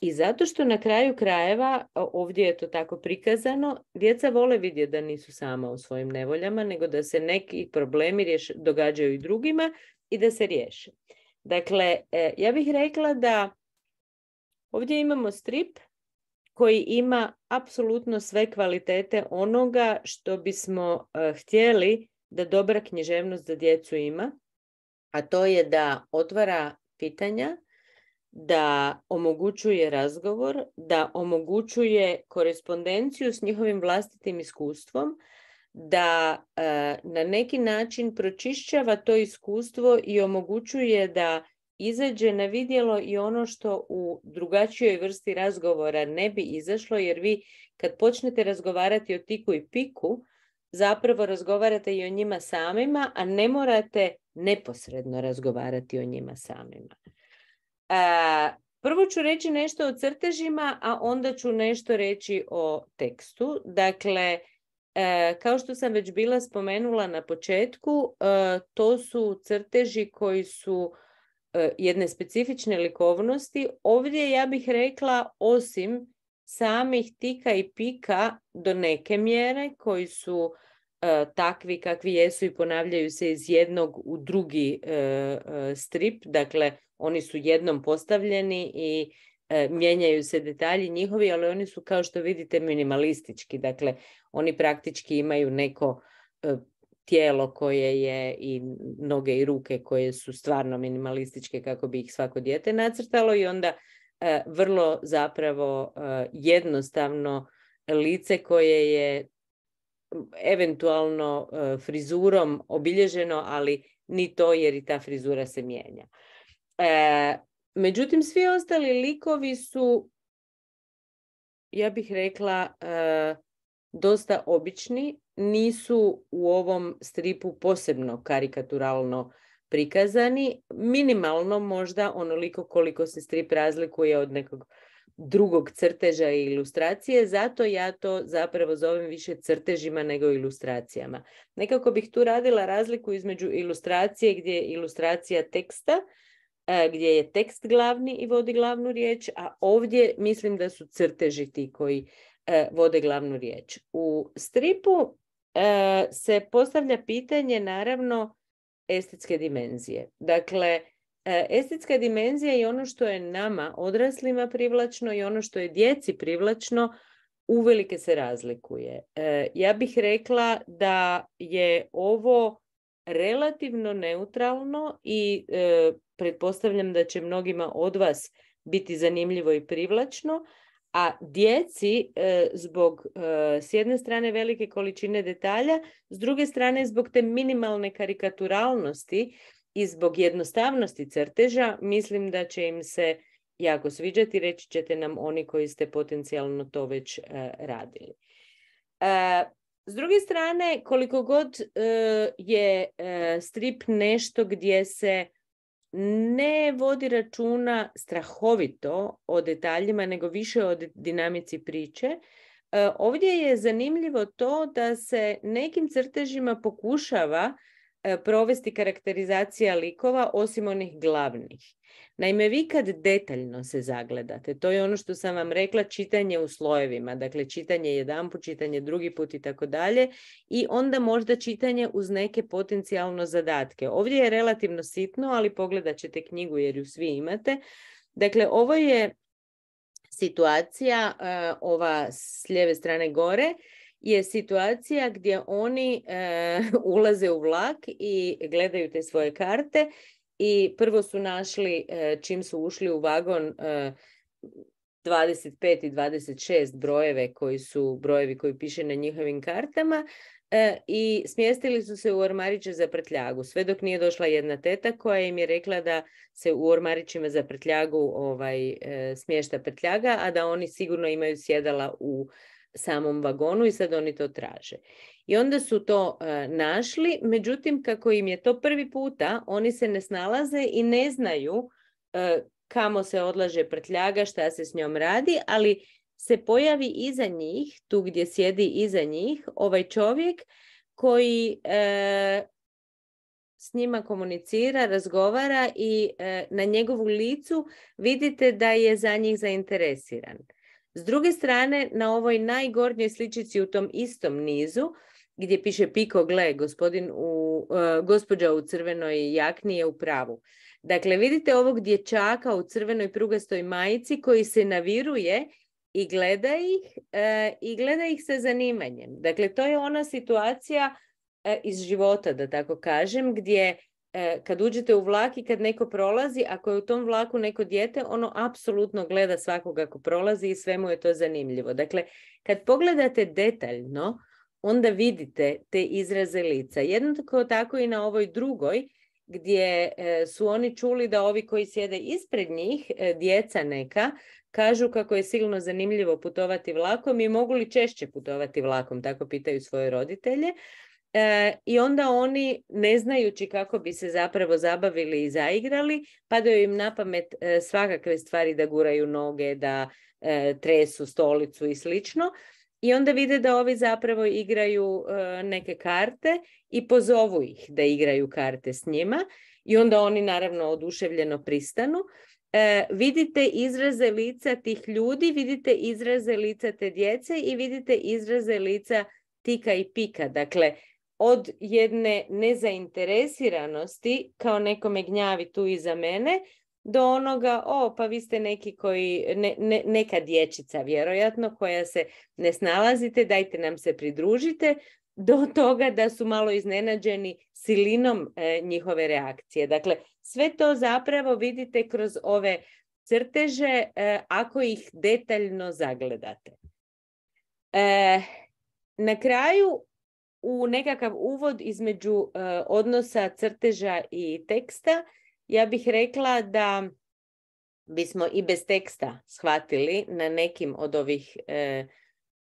I zato što na kraju krajeva, ovdje je to tako prikazano, djeca vole vidjeti da nisu sama u svojim nevoljama, nego da se neki problemi događaju i drugima i da se riješe. Dakle, ja bih rekla da ovdje imamo strip koji ima apsolutno sve kvalitete onoga što bismo htjeli da dobra književnost za djecu ima, a to je da otvara pitanja, da omogućuje razgovor, da omogućuje korespondenciju s njihovim vlastitim iskustvom, da na neki način pročišćava to iskustvo i omogućuje da izađe na vidjelo i ono što u drugačijoj vrsti razgovora ne bi izašlo, jer vi kad počnete razgovarati o Tiku i Piku, zapravo razgovarate i o njima samima, a ne morate neposredno razgovarati o njima samima. Prvo ću reći nešto o crtežima, a onda ću nešto reći o tekstu. Dakle, kao što sam već bila spomenula na početku, to su crteži koji su jedne specifične likovnosti. Ovdje ja bih rekla, osim samih Tika i Pika do neke mjere, koji su takvi kakvi jesu i ponavljaju se iz jednog u drugi strip, dakle oni su jednom postavljeni i mijenjaju se detalji njihovi, ali oni su, kao što vidite, minimalistički. Dakle, oni praktički imaju neko tijelo koje je i noge i ruke koje su stvarno minimalističke kako bi ih svako dijete nacrtalo i onda vrlo zapravo jednostavno lice koje je eventualno frizurom obilježeno, ali ni to jer i ta frizura se mijenja. Međutim, svi ostali likovi su, ja bih rekla, dosta obični, nisu u ovom stripu posebno karikaturalno prikazani, minimalno možda onoliko koliko se strip razlikuje od nekog drugog crteža i ilustracije, zato ja to zapravo zovem više crtežima nego ilustracijama. Nekako bih tu radila razliku između ilustracije gdje je ilustracija teksta, gdje je tekst glavni i vodi glavnu riječ, a ovdje mislim da su crteži ti koji vode glavnu riječ. U stripu se postavlja pitanje, naravno, estetske dimenzije. Dakle, estetska dimenzija je ono što je nama, odraslima, privlačno i ono što je djeci privlačno, uvelike se razlikuje. Ja bih rekla da je ovo relativno neutralno i pretpostavljam da će mnogima od vas biti zanimljivo i privlačno, a djeci zbog s jedne strane velike količine detalja, s druge strane zbog te minimalne karikaturalnosti i zbog jednostavnosti crteža, mislim da će im se jako sviđati, reći ćete nam oni koji ste potencijalno to već radili. S druge strane, koliko god je strip nešto gdje se ne vodi računa strahovito o detaljima, nego više o dinamici priče, ovdje je zanimljivo to da se nekim crtežima pokušava provesti karakterizacija likova osim onih glavnih. Naime, vi kad detaljno se zagledate, to je ono što sam vam rekla, čitanje u slojevima, dakle čitanje jedanput, čitanje drugi put i tako dalje, i onda možda čitanje uz neke potencijalno zadatke. Ovdje je relativno sitno, ali pogledat ćete knjigu jer ju svi imate. Dakle, ovo je situacija, ova s lijeve strane gore, je situacija gdje oni ulaze u vlak i gledaju te svoje karte i prvo su našli, čim su ušli u vagon, 25 i 26 brojeve koji su brojevi koji piše na njihovim kartama i smjestili su se u ormariće za prtljagu. Sve dok nije došla jedna teta koja im je rekla da se u ormarićima za prtljagu smješta prtljaga, a da oni sigurno imaju sjedala u samom vagonu i sad oni to traže. I onda su to našli, međutim kako im je to prvi puta, oni se ne snalaze i ne znaju kamo se odlaže prtljaga, šta se s njom radi, ali se pojavi iza njih, tu gdje sjedi iza njih, ovaj čovjek koji s njima komunicira, razgovara i na njegovu licu vidite da je za njih zainteresiran. S druge strane, na ovoj najgornjoj sličici u tom istom nizu, gdje piše Piko, gle, gospođa u crvenoj jakni je u pravu. Dakle, vidite ovog dječaka u crvenoj prugastoj majici koji se naviruje i gleda ih sa zanimanjem. Dakle, to je ona situacija iz života, da tako kažem, gdje kad uđete u vlak i kad neko prolazi, ako je u tom vlaku neko dijete, ono apsolutno gleda svakoga ko prolazi i sve mu je to zanimljivo. Dakle, kad pogledate detaljno, onda vidite te izraze lica. Jednako tako i na ovoj drugoj, gdje su oni čuli da ovi koji sjede ispred njih, djeca neka, kažu kako je silno zanimljivo putovati vlakom i mogu li češće putovati vlakom, tako pitaju svoje roditelje. I onda oni, ne znajući kako bi se zapravo zabavili i zaigrali, padaju im na pamet svakakve stvari, da guraju noge, da tresu stolicu i slično. I onda vide da ovi zapravo igraju neke karte i pozovu ih da igraju karte s njima. I onda oni naravno oduševljeno pristanu. Vidite izraze lica tih ljudi, vidite izraze lica te djece i vidite izraze lica Tika i Pika. Dakle, od jedne nezainteresiranosti, kao nekome gnjavi tu iza mene, do onoga, pa vi ste neki koji, neka dječica vjerojatno, koja se ne snalazite, dajte nam se pridružite, do toga da su malo iznenađeni silinom njihove reakcije. Dakle, sve to zapravo vidite kroz ove crteže ako ih detaljno zagledate. Na kraju, u nekakav uvod između odnosa crteža i teksta, ja bih rekla da bismo i bez teksta shvatili na nekim od ovih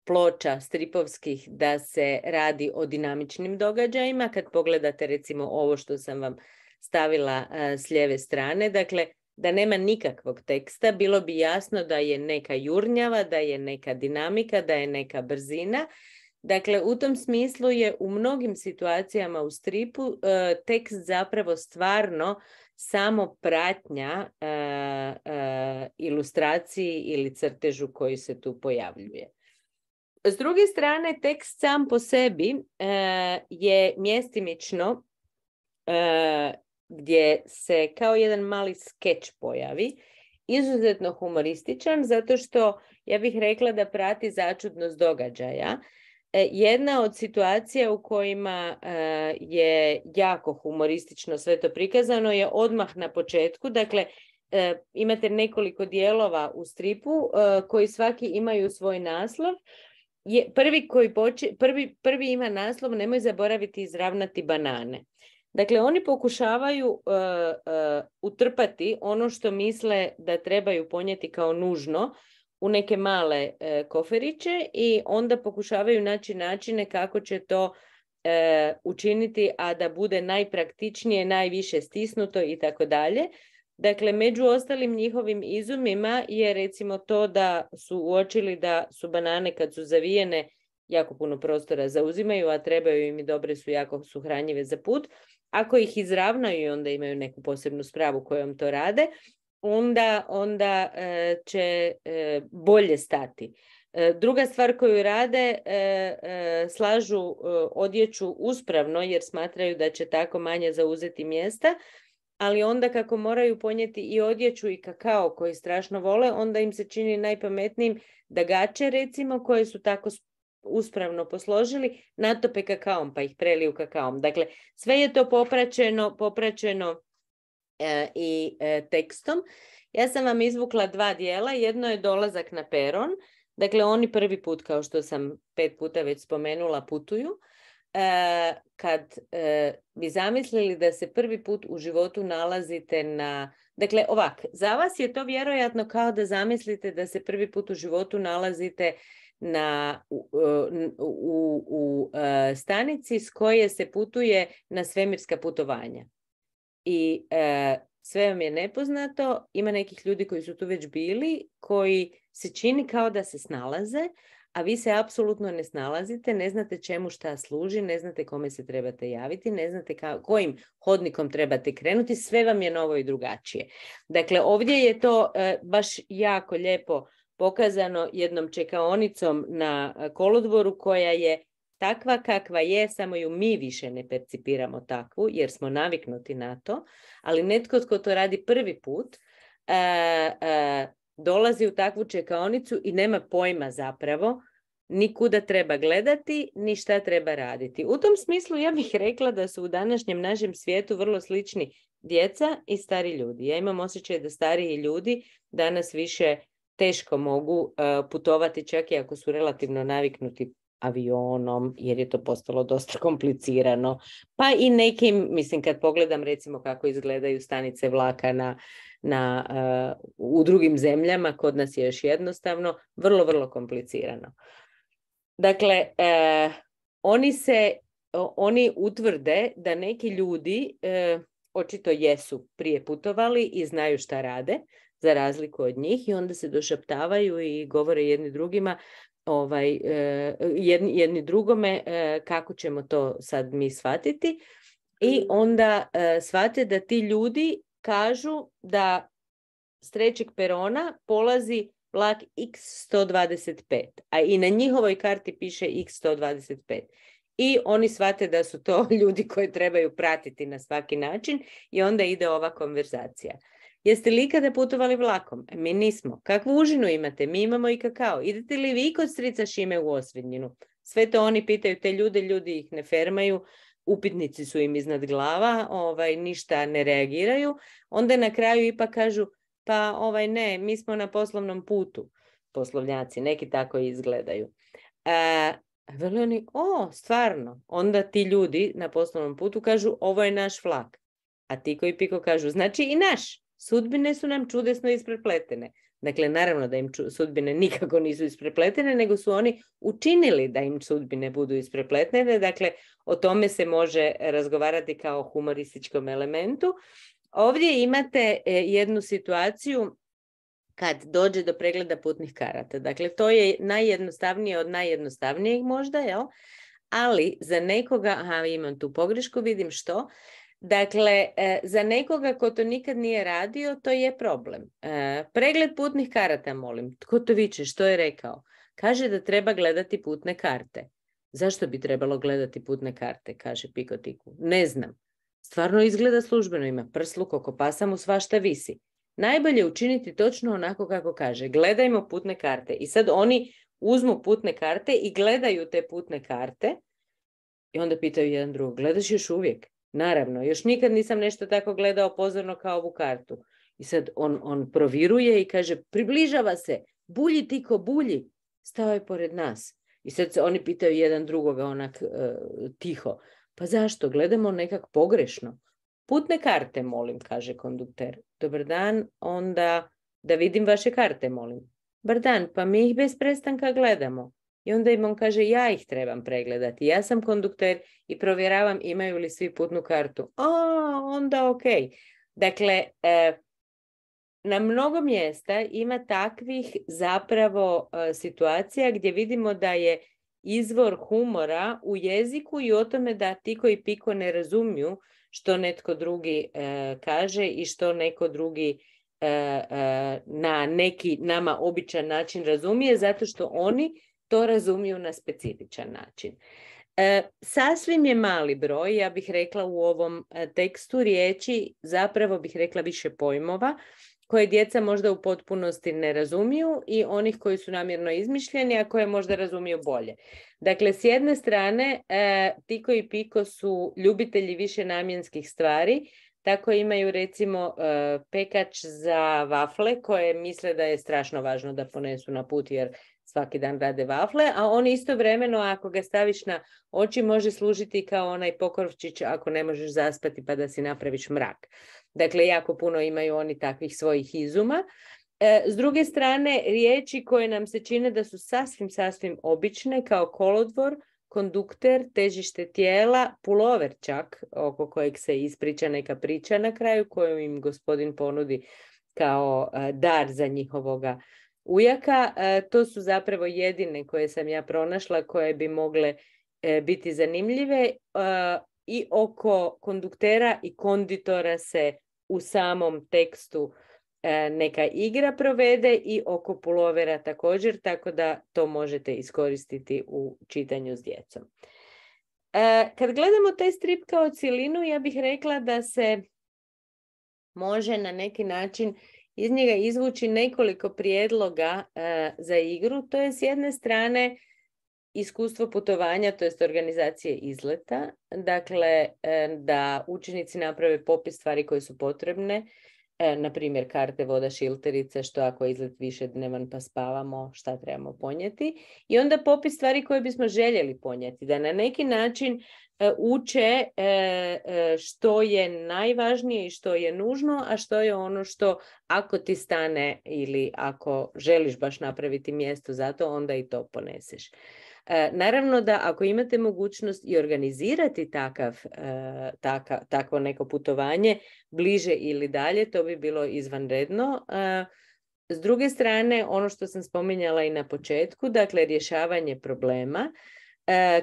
ploča stripovskih da se radi o dinamičnim događajima. Kad pogledate recimo ovo što sam vam stavila s lijeve strane, dakle da nema nikakvog teksta, bilo bi jasno da je neka jurnjava, da je neka dinamika, da je neka brzina. Dakle, u tom smislu je u mnogim situacijama u stripu tekst zapravo stvarno samo pratnja ilustraciji ili crtežu koji se tu pojavljuje. S druge strane, tekst sam po sebi je mjestimično gdje se kao jedan mali skeč pojavi, izuzetno humorističan, zato što ja bih rekla da prati začudnost događaja. Jedna od situacija u kojima je jako humoristično sve to prikazano je odmah na početku. Dakle, imate nekoliko dijelova u stripu koji svaki imaju svoj naslov. Prvi ima naslov "Nemoj zaboraviti izravnati banane". Dakle, oni pokušavaju utrpati ono što misle da trebaju ponijeti kao nužno u neke male koferiće i onda pokušavaju naći načine kako će to učiniti, a da bude najpraktičnije, najviše stisnuto i tako dalje. Dakle, među ostalim njihovim izumima je recimo to da su uočili da su banane kad su zavijene jako puno prostora zauzimaju, a trebaju im i dobre su, jako su hranjive za put. Ako ih izravnaju i onda imaju neku posebnu spravu kojom to rade, onda će bolje stati. Druga stvar koju rade, slažu odjeću uspravno jer smatraju da će tako manje zauzeti mjesta, ali onda kako moraju ponijeti i odjeću i kakao koji strašno vole, onda im se čini najpametnijim da gaće, recimo, koje su tako uspravno posložili, natope kakaom pa ih preliju kakaom. Dakle, sve je to popraćeno i tekstom. Ja sam vam izvukla 2 dijela. Jedno je dolazak na peron. Dakle, oni prvi put, kao što sam 5 puta već spomenula, putuju. Kad bi zamislili da se prvi put u životu nalazite na... Dakle, ovak, za vas je to vjerojatno kao da zamislite da se prvi put u životu nalazite u stanici s koje se putuje na svemirska putovanja. I sve vam je nepoznato, ima nekih ljudi koji su tu već bili, koji se čini kao da se snalaze, a vi se apsolutno ne snalazite, ne znate čemu šta služi, ne znate kome se trebate javiti, ne znate kojim hodnikom trebate krenuti, sve vam je novo i drugačije. Dakle, ovdje je to baš jako lijepo pokazano jednom čekaonicom na kolodvoru koja je takva kakva je, samo ju mi više ne percipiramo takvu jer smo naviknuti na to, ali netko tko to radi prvi put dolazi u takvu čekaonicu i nema pojma zapravo ni kuda treba gledati, ni šta treba raditi. U tom smislu ja bih rekla da su u današnjem našem svijetu vrlo slični djeca i stari ljudi. Ja imam osjećaj da stariji ljudi danas više teško mogu putovati, čak i ako su relativno naviknuti avionom, jer je to postalo dosta komplicirano. Pa i nekim, mislim, kad pogledam recimo kako izgledaju stanice vlaka u drugim zemljama, kod nas je još jednostavno, vrlo, vrlo komplicirano. Dakle, oni utvrde da neki ljudi očito jesu prije putovali i znaju šta rade, za razliku od njih, i onda se došaptavaju i govore jedni drugima, jedni drugome kako ćemo to sad mi shvatiti, i onda shvate da ti ljudi kažu da s 3. perona polazi vlak X125, a i na njihovoj karti piše X125. I oni shvate da su to ljudi koji trebaju pratiti na svaki način i onda ide ova konverzacija. Jeste li ikada putovali vlakom? Mi nismo. Kakvu užinu imate? Mi imamo i kakao. Idete li vi kod strica Šime u Osvetnjinu? Sve to oni pitaju te ljude, ljudi ih ne fermaju, upitnici su im iznad glava, ništa ne reagiraju. Onda na kraju ipak kažu, pa ne, mi smo na poslovnom putu. Poslovnjaci, neki tako izgledaju. Veli oni, stvarno. Onda ti ljudi na poslovnom putu kažu, ovo je naš vlak. A ti koji piko kažu, znači i naš. Sudbine su nam čudesno isprepletene. Dakle, naravno da im sudbine nikako nisu isprepletene, nego su oni učinili da im sudbine budu isprepletene. Dakle, o tome se može razgovarati kao o humorističkom elementu. Ovdje imate jednu situaciju kad dođe do pregleda putnih karata. Dakle, to je najjednostavnije od najjednostavnijeg možda, jel? Ali za nekoga, imam tu pogrešku, vidim što. Dakle, za nekoga ko to nikad nije radio, to je problem. Pregled putnih karata, molim. Tko to viče? Što je rekao? Kaže da treba gledati putne karte. Zašto bi trebalo gledati putne karte, kaže Pikotiku. Ne znam. Stvarno izgleda službeno, ima prsluk, oko pasa mu svašta visi. Najbolje učiniti točno onako kako kaže. Gledajmo putne karte. I sad oni uzmu putne karte i gledaju te putne karte i onda pitaju jedan drugog, gledaš još uvijek? Naravno, još nikad nisam nešto tako gledao pozorno kao ovu kartu. I sad on proviruje i kaže, približava se, bulji Tiko, bulji. Stao je pored nas. I sad se oni pitaju jedan drugoga onak tiho. Pa zašto? Gledamo nekak pogrešno. Putne karte, molim, kaže kondukter. Dobar dan, onda da vidim vaše karte, molim. Dobar dan, pa mi ih bez prestanka gledamo. I onda im on kaže, ja ih trebam pregledati. Ja sam kondukter i provjeravam imaju li svi putnu kartu. Onda ok. Dakle, na mnogo mjesta ima takvih zapravo situacija gdje vidimo da je izvor humora u jeziku i o tome da Tiko i Piko ne razumiju što netko drugi kaže i što neko drugi na neki nama običan način razumije, zato što oni to razumiju na specifičan način. Sasvim je mali broj, ja bih rekla u ovom tekstu riječi, zapravo bih rekla više pojmova, koje djeca možda u potpunosti ne razumiju i onih koji su namjerno izmišljeni, a koje možda razumiju bolje. Dakle, s jedne strane, Tiko i Piko su ljubitelji višenamjenskih stvari, tako imaju recimo pekač za vafle koje misle da je strašno važno da ponesu na put jer svaki dan rade vafle, a on istovremeno ako ga staviš na oči može služiti kao onaj pokorčić ako ne možeš zaspati pa da si napraviš mrak. Dakle, jako puno imaju oni takvih svojih izuma. S druge strane, riječi koje nam se čine da su sasvim obične kao kolodvor, kondukter, težište tijela, pulover čak, oko kojeg se ispriča neka priča na kraju koju im gospodin ponudi kao dar za njihovoga ujaka. To su zapravo jedine koje sam ja pronašla koje bi mogle biti zanimljive i oko konduktera i konditora se u samom tekstu neka igra provede i oko pulovera također, tako da to možete iskoristiti u čitanju s djecom. Kad gledamo taj strip kao cjelinu, ja bih rekla da se može na neki način iz njega izvući nekoliko prijedloga za igru. To je s jedne strane iskustvo putovanja, to jest organizacije izleta. Dakle, da učenici naprave popis stvari koje su potrebne, na primjer karte, voda, šilterice, što ako je izlet višednevan pa spavamo, šta trebamo ponijeti. I onda popis stvari koje bismo željeli ponijeti, da na neki način uče što je najvažnije i što je nužno, a što je ono što ako ti stane ili ako želiš baš napraviti mjesto za to, onda i to poneseš. Naravno da ako imate mogućnost i organizirati takvo neko putovanje, bliže ili dalje, to bi bilo izvanredno. S druge strane, ono što sam spominjala i na početku, dakle rješavanje problema,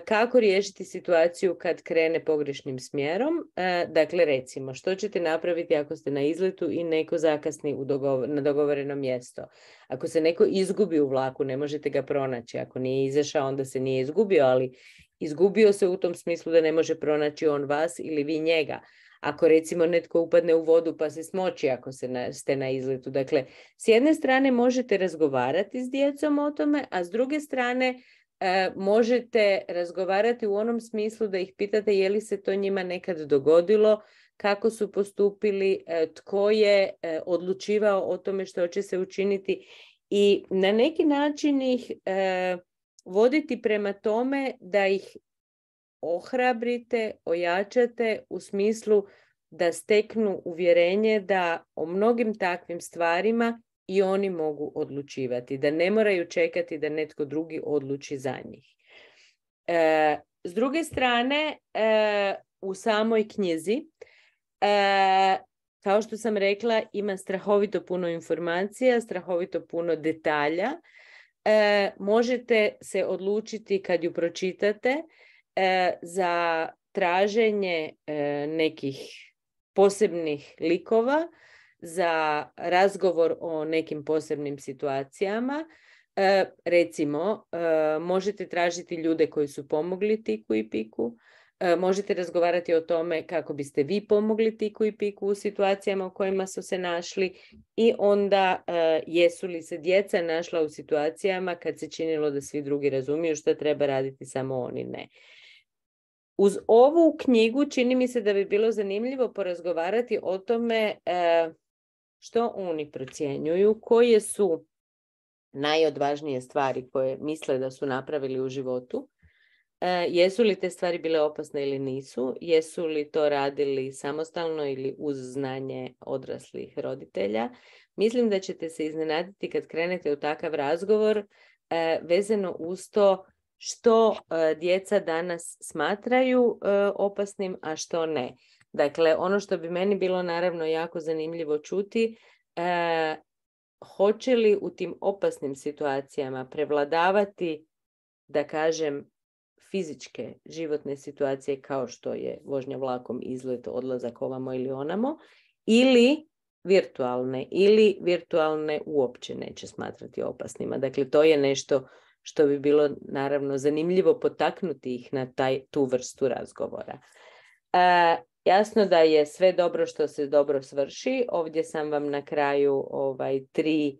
kako riješiti situaciju kad krene pogrešnim smjerom. Dakle, recimo, što ćete napraviti ako ste na izletu i neko zakasni na dogovoreno mjesto? Ako se neko izgubi u vlaku, ne možete ga pronaći. Ako nije izašao, onda se nije izgubio, ali izgubio se u tom smislu da ne može pronaći on vas ili vi njega. Ako recimo netko upadne u vodu pa se smoči ako ste na izletu. Dakle, s jedne strane možete razgovarati s djecom o tome, a s druge strane možete razgovarati u onom smislu da ih pitate je li se to njima nekad dogodilo, kako su postupili, tko je odlučivao o tome što će se učiniti i na neki način ih voditi prema tome da ih ohrabrite, ojačate u smislu da steknu uvjerenje da o mnogim takvim stvarima i oni mogu odlučivati, da ne moraju čekati da netko drugi odluči za njih. S druge strane, u samoj knjizi, kao što sam rekla, ima strahovito puno informacija, strahovito puno detalja. Možete se odlučiti kad ju pročitate za traženje nekih posebnih likova, za razgovor o nekim posebnim situacijama. Recimo, možete tražiti ljude koji su pomogli Tiku i Piku, Možete razgovarati o tome kako biste vi pomogli Tiku i Piku u situacijama u kojima su se našli i onda jesu li se djeca našla u situacijama kad se činilo da svi drugi razumiju što treba raditi, samo oni ne. Uz ovu knjigu čini mi se da bi bilo zanimljivo porazgovarati o tome što oni procjenjuju, koje su najodvažnije stvari koje misle da su napravili u životu. Jesu li te stvari bile opasne ili nisu? Jesu li to radili samostalno ili uz znanje odraslih roditelja? Mislim da ćete se iznenaditi kad krenete u takav razgovor vezano uz to što djeca danas smatraju opasnim, a što ne. Dakle, ono što bi meni bilo naravno jako zanimljivo čuti, hoće li u tim opasnim situacijama prevladavati, da kažem, fizičke životne situacije kao što je vožnja vlakom, izlet, odlazak ovamo ili onamo, ili virtualne uopće neće smatrati opasnima. Dakle, to je nešto što bi bilo naravno zanimljivo potaknuti ih na tu vrstu razgovora. Jasno da je sve dobro što se dobro svrši. Ovdje sam vam na kraju 3,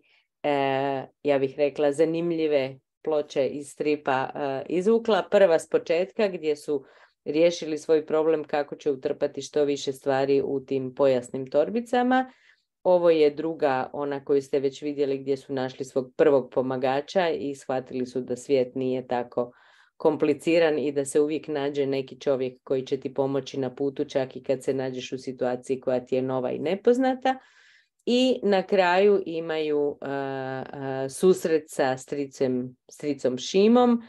ja bih rekla, zanimljive ploče iz stripa izvukla. Prva s početka gdje su riješili svoj problem kako će utrpati što više stvari u tim pojasnim torbicama. Ovo je druga, ona koju ste već vidjeli, gdje su našli svog prvog pomagača i shvatili su da svijet nije tako kompliciran i da se uvijek nađe neki čovjek koji će ti pomoći na putu, čak i kad se nađeš u situaciji koja ti je nova i nepoznata. I na kraju imaju susret sa stricom Šimom,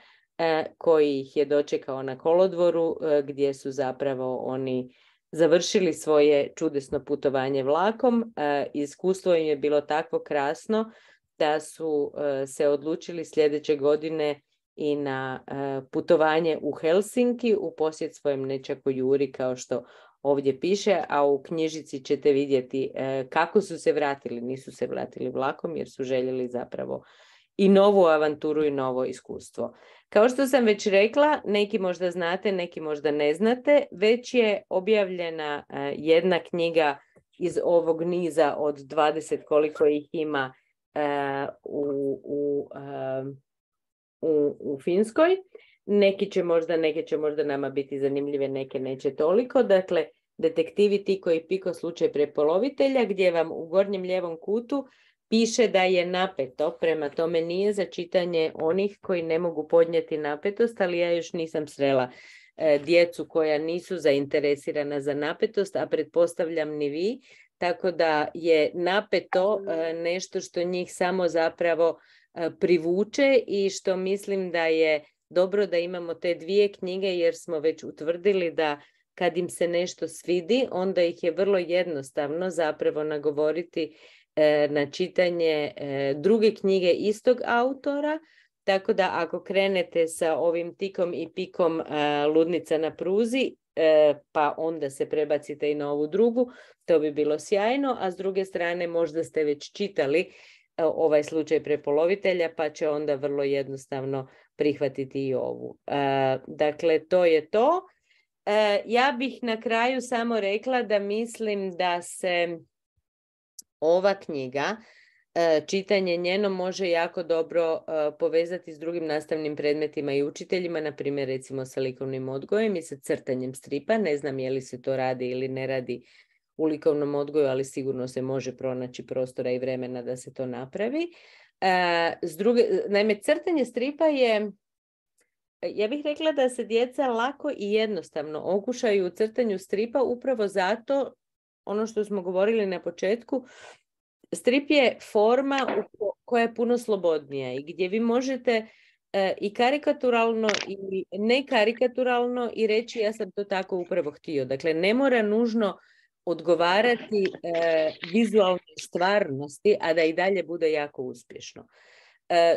koji ih je dočekao na kolodvoru, gdje su zapravo oni završili svoje čudesno putovanje vlakom. Iskustvo im je bilo tako krasno da su se odlučili sljedeće godine i na putovanje u Helsinki u posjet svojem nećaku Juri, kao što ovdje piše, a u knjižici ćete vidjeti kako su se vratili. Nisu se vratili vlakom jer su željeli zapravo i novu avanturu i novo iskustvo. Kao što sam već rekla, neki možda znate, neki možda ne znate, već je objavljena jedna knjiga iz ovog niza od 20 koliko ih ima u Finskoj. Neke će možda nama biti zanimljive, neke neće toliko. Dakle, Detektivi Tiko i Piko, slučaj prepolovitelja, gdje vam u gornjem lijevom kutu piše da je napeto, prema tome nije za čitanje onih koji ne mogu podnijeti napetost, ali ja još nisam srela djecu koja nisu zainteresirana za napetost, a pretpostavljam ni vi, tako da je napeto nešto što njih samo zapravo privuče i što mislim da je dobro da imamo te 2 knjige, jer smo već utvrdili da kad im se nešto svidi, onda ih je vrlo jednostavno zapravo nagovoriti na čitanje druge knjige istog autora, tako da ako krenete sa ovim Tikom i Pikom Ludnica na pruzi, pa onda se prebacite i na ovu drugu, to bi bilo sjajno, a s druge strane možda ste već čitali ovaj slučaj prepolovitelja, pa će onda vrlo jednostavno prihvatiti i ovu. Dakle, to je to. Ja bih na kraju samo rekla da mislim da se ova knjiga, čitanje njeno, može jako dobro povezati s drugim nastavnim predmetima i učiteljima, na primjer recimo sa likovnim odgojem i sa crtanjem stripa. Ne znam je li se to radi ili ne radi u likovnom odgoju, ali sigurno se može pronaći prostora i vremena da se to napravi. Naime, crtanje stripa je, ja bih rekla da se djeca lako i jednostavno okušaju u crtanju stripa, upravo zato, ono što smo govorili na početku, strip je forma koja je puno slobodnija i gdje vi možete i karikaturalno i ne karikaturalno i reći ja sam to tako upravo htio. Dakle, ne mora nužno odgovarati vizualnoj stvarnosti, a da i dalje bude jako uspješno.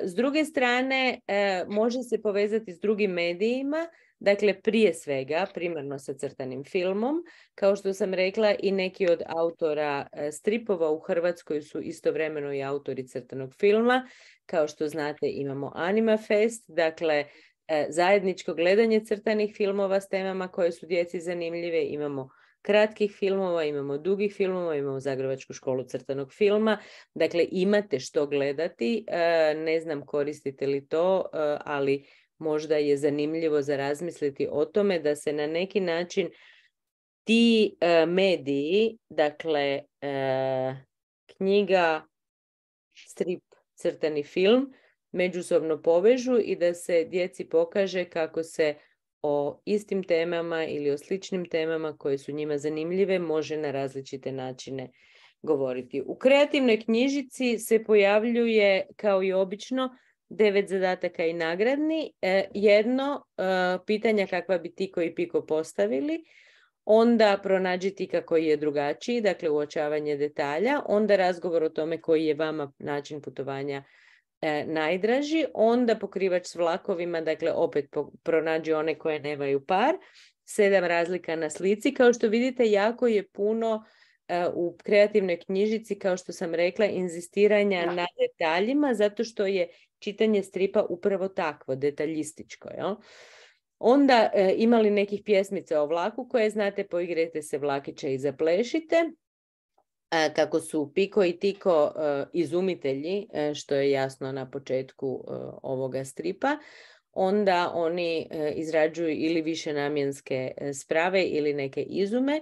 S druge strane, može se povezati s drugim medijima, dakle prije svega primarno sa crtanim filmom. Kao što sam rekla, i neki od autora stripova u Hrvatskoj su istovremeno i autori crtanog filma. Kao što znate, imamo Anima Fest, dakle zajedničko gledanje crtanih filmova s temama koje su djeci zanimljive, imamo kratkih filmova, imamo dugih filmova, imamo Zagrebačku školu crtanog filma, dakle imate što gledati, ne znam koristite li to, ali možda je zanimljivo za razmisliti o tome da se na neki način ti mediji, dakle knjiga, strip, crtani film, međusobno povežu i da se djeci pokaže kako se o istim temama ili o sličnim temama koje su njima zanimljive može na različite načine govoriti. U kreativnoj knjižici se pojavljuje, kao i obično, 9 zadataka i nagradni. Jedno, pitanja kakva bi Tiko i Piko postavili, onda pronađi Tika koji je drugačiji, dakle uočavanje detalja, onda razgovor o tome koji je vama način putovanja najdraži, onda pokrivač s vlakovima, dakle opet pronađi one koje nemaju par, 7 razlika na slici. Kao što vidite, jako je puno u kreativnoj knjižici, kao što sam rekla, inzistiranja na detaljima, zato što je čitanje stripa upravo takvo, detaljističko. Jel? Onda imali nekih pjesmica o vlaku koje znate, poigrajte se vlakića i zaplešite. Kako su Piko i Tiko izumitelji, što je jasno na početku ovoga stripa, onda oni izrađuju ili višenamjenske sprave ili neke izume,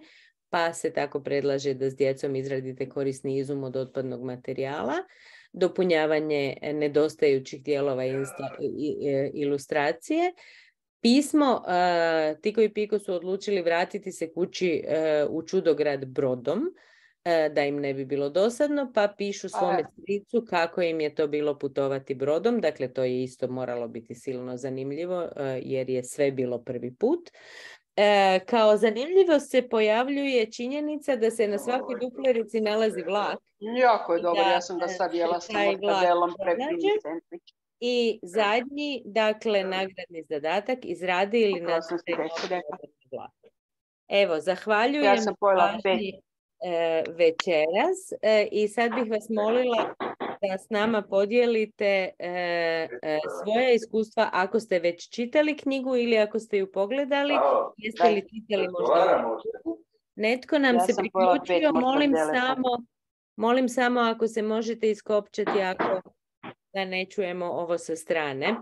pa se tako predlaže da s djecom izradite korisni izum od otpadnog materijala, dopunjavanje nedostajućih dijelova ilustracije. Pismo, Tiko i Piko su odlučili vratiti se kući u čudograd brodom, da im ne bi bilo dosadno, pa pišu svome stricu kako im je to bilo putovati brodom. Dakle, to je isto moralo biti silno zanimljivo, jer je sve bilo prvi put. Kao zanimljivost se pojavljuje činjenica da se na svakoj duplerici nalazi vlak. Jako je dobro, ja sam ga sad jela s mortadelom preprincentrić. I zadnji, dakle, nagradni zadatak, izradi ili nađite vlak. Evo, zahvaljujem. Ja sam pojela 5. Večeras i sad bih vas molila da s nama podijelite svoja iskustva ako ste već čitali knjigu ili ako ste ju pogledali, jeste li čitali možda. Netko nam se priključio, molim samo ako se možete iskopčati ako da ne čujemo ovo sa strane.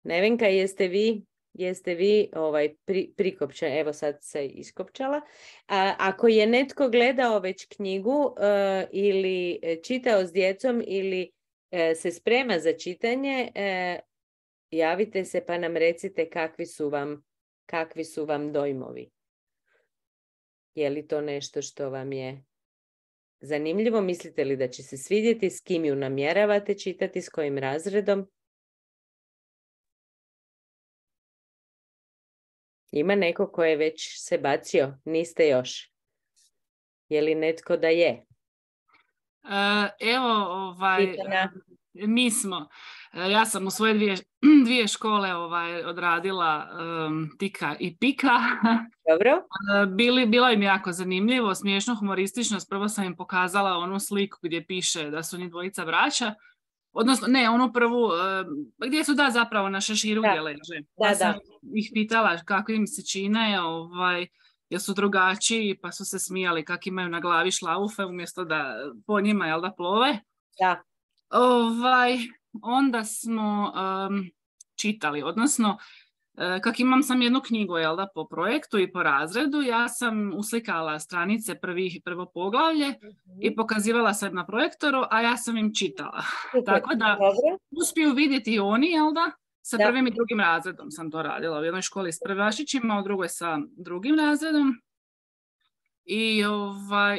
Nevenka, jeste vi prikopčani? Evo sad se iskopčala. Ako je netko gledao već knjigu ili čitao s djecom ili se sprema za čitanje, javite se pa nam recite kakvi su vam dojmovi. Je li to nešto što vam je zanimljivo? Mislite li da će se svidjeti? S kim ju namjeravate čitati? S kojim razredom? Ima neko ko je već se bacio? Niste još? Je li netko da je? Evo, mi smo. Ja sam u svoje dvije škole odradila Tika i Pika. Dobro. Bilo im jako zanimljivo, smiješno, humoristično. Prvo sam im pokazala onu sliku gdje piše da su njih dvojica braća. Odnosno, ne, onu prvu, gdje su zapravo na šeširu gdje leže. Pa sam ih pitala kako im se čine, jer su drugačiji, pa su se smijali kako imaju na glavi šlaufe umjesto da po njima, da plove. Da. Onda smo čitali, odnosno, kako imam sam jednu knjigu, po projektu i po razredu, ja sam uslikala stranice prvo poglavlje i pokazivala sam na projektoru, a ja sam im čitala. Tako da uspiju vidjeti oni, sa prvim i drugim razredom sam to radila. U jednoj školi s prvašićima, u drugoj sa drugim razredom.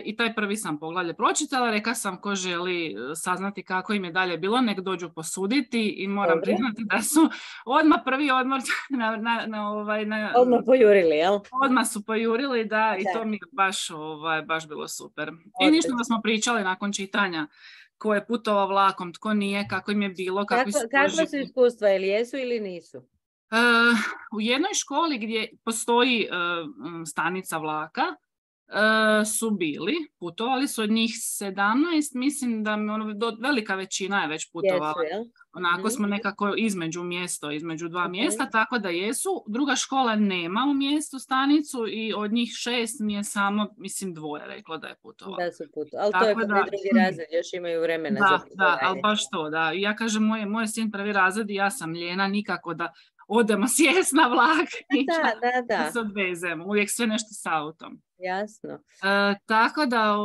I taj prvi sam poglavlje pročitala, rekla sam ko želi saznati kako im je dalje bilo, nek dođu posuditi i moram priznati da su odmah prvi odmor odmah pojurili, jel? Odmah su pojurili, da, i to mi je baš bilo super. I ništa da smo pričali nakon čitanja ko je putovao vlakom, tko nije, kako im je bilo, kakva su iskustva, ili jesu ili nisu? U jednoj školi gdje postoji stanica vlaka, su bili, putovali su od njih 17, mislim da velika većina je već putovala. Onako smo nekako između dva mjesta, tako da jesu. Druga škola nema u mjestu stanicu i od njih 6 mi je samo, mislim, 2 reklo da je putovalo. Da su putovali, ali tako to je prvi drugi razred, još imaju vremena za putovanje. Da, ali baš to, da. Ja kažem, moj sin prvi razred i ja sam ljena, nikako da odemo sjest na vlak i da se odvezemo. Uvijek sve nešto s autom. Jasno. Tako da,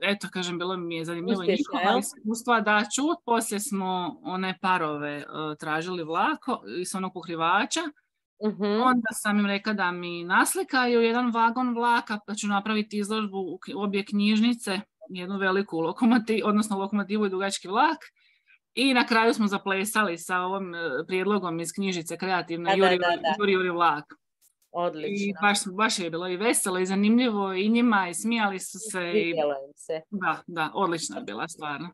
eto, kažem, bilo mi je zanimljivo njihova iskustva da čut. Poslije smo one parove tražili vlako iz onog pokrivača. Onda sam im rekla da mi naslikaju jedan vagon vlaka, pa ću napraviti izložbu u obje knjižnice, jednu veliku lokomotivu i dugački vlak. I na kraju smo zaplesali sa ovom prijedlogom iz knjižice kreativne Juri vlak. Odlično. I baš je bilo i veselo i zanimljivo i njima i smijali su se. Vidjelo im se. Da, odlična je bila stvarno.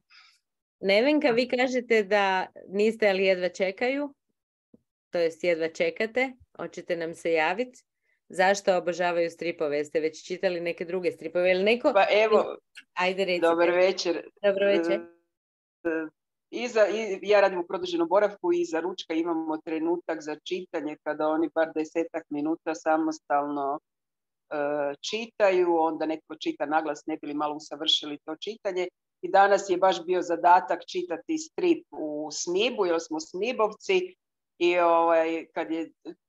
Nevenka, vi kažete da niste, ali jedva čekaju, to jest jedva čekate, hoćete nam se javiti. Zašto obožavaju stripove? Jeste već čitali neke druge stripove? Ili neko... Pa evo, ajde recite. Dobar večer. Dobro večer. Ja radim u produženom boravku i za ručka imamo trenutak za čitanje kada oni bar 10 minuta samostalno čitaju, onda neko čita naglas, ne bi li malo usavršili to čitanje. I danas je baš bio zadatak čitati strip u Smibu, jer smo Smibovci i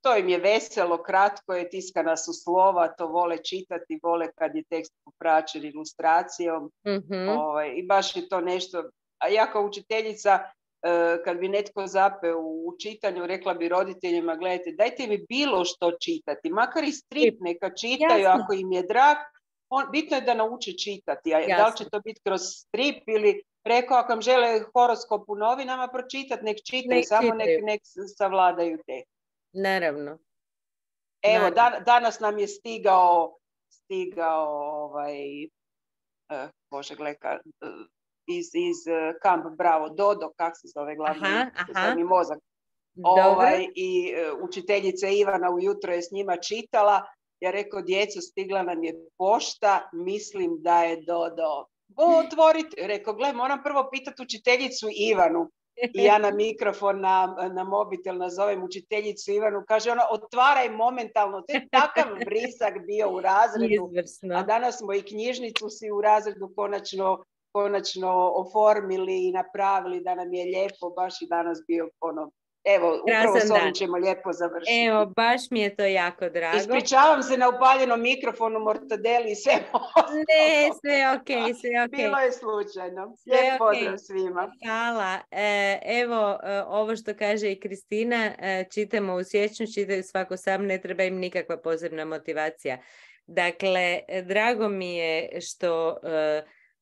to im je veselo, kratko je, tiskana su slova, to vole čitati, vole kad je tekst popraćen ilustracijom. I baš je to nešto. A ja kao učiteljica, kad bi netko zapeo u čitanju, rekla bi roditeljima, gledajte, dajte mi bilo što čitati, makar i strip neka čitaju. Jasno. Ako im je drag, bitno je da nauče čitati. A da li će to biti kroz strip ili rekao, ako vam žele horoskop u novinama pročitati, nek čitaju, samo nek savladaju te. Naravno. Evo, danas nam je stigao Bože, gleka, iz Kamp Bravo, Dodo, kak se zove glavni mozak. I učiteljica Ivana ujutro je s njima čitala. Ja rekao, djeco, stigla nam je pošta, mislim da je Dodo. Otvorite, rekao, gle, moram prvo pitati učiteljicu Ivanu. I ja na mikrofon, na mobitel nazovem učiteljicu Ivanu, kaže ona, otvaraj momentalno. To je takav vrisak bio u razredu. Izvrsno. A danas smo i knjižnicu si u razredu konačno oformili i napravili da nam je lijepo, baš i danas bio evo, upravo s ovim ćemo lijepo završiti. Evo, baš mi je to jako drago. Ispričavam se na upaljenom mikrofonu, mortadeli i sve ostalo. Ne, sve ok. Bilo je slučajno. Lijep pozdrav svima. Hvala. Evo, ovo što kaže i Kristina, čitamo u siječnju, čitaju svako sam, ne treba im nikakva posebna motivacija. Dakle, drago mi je što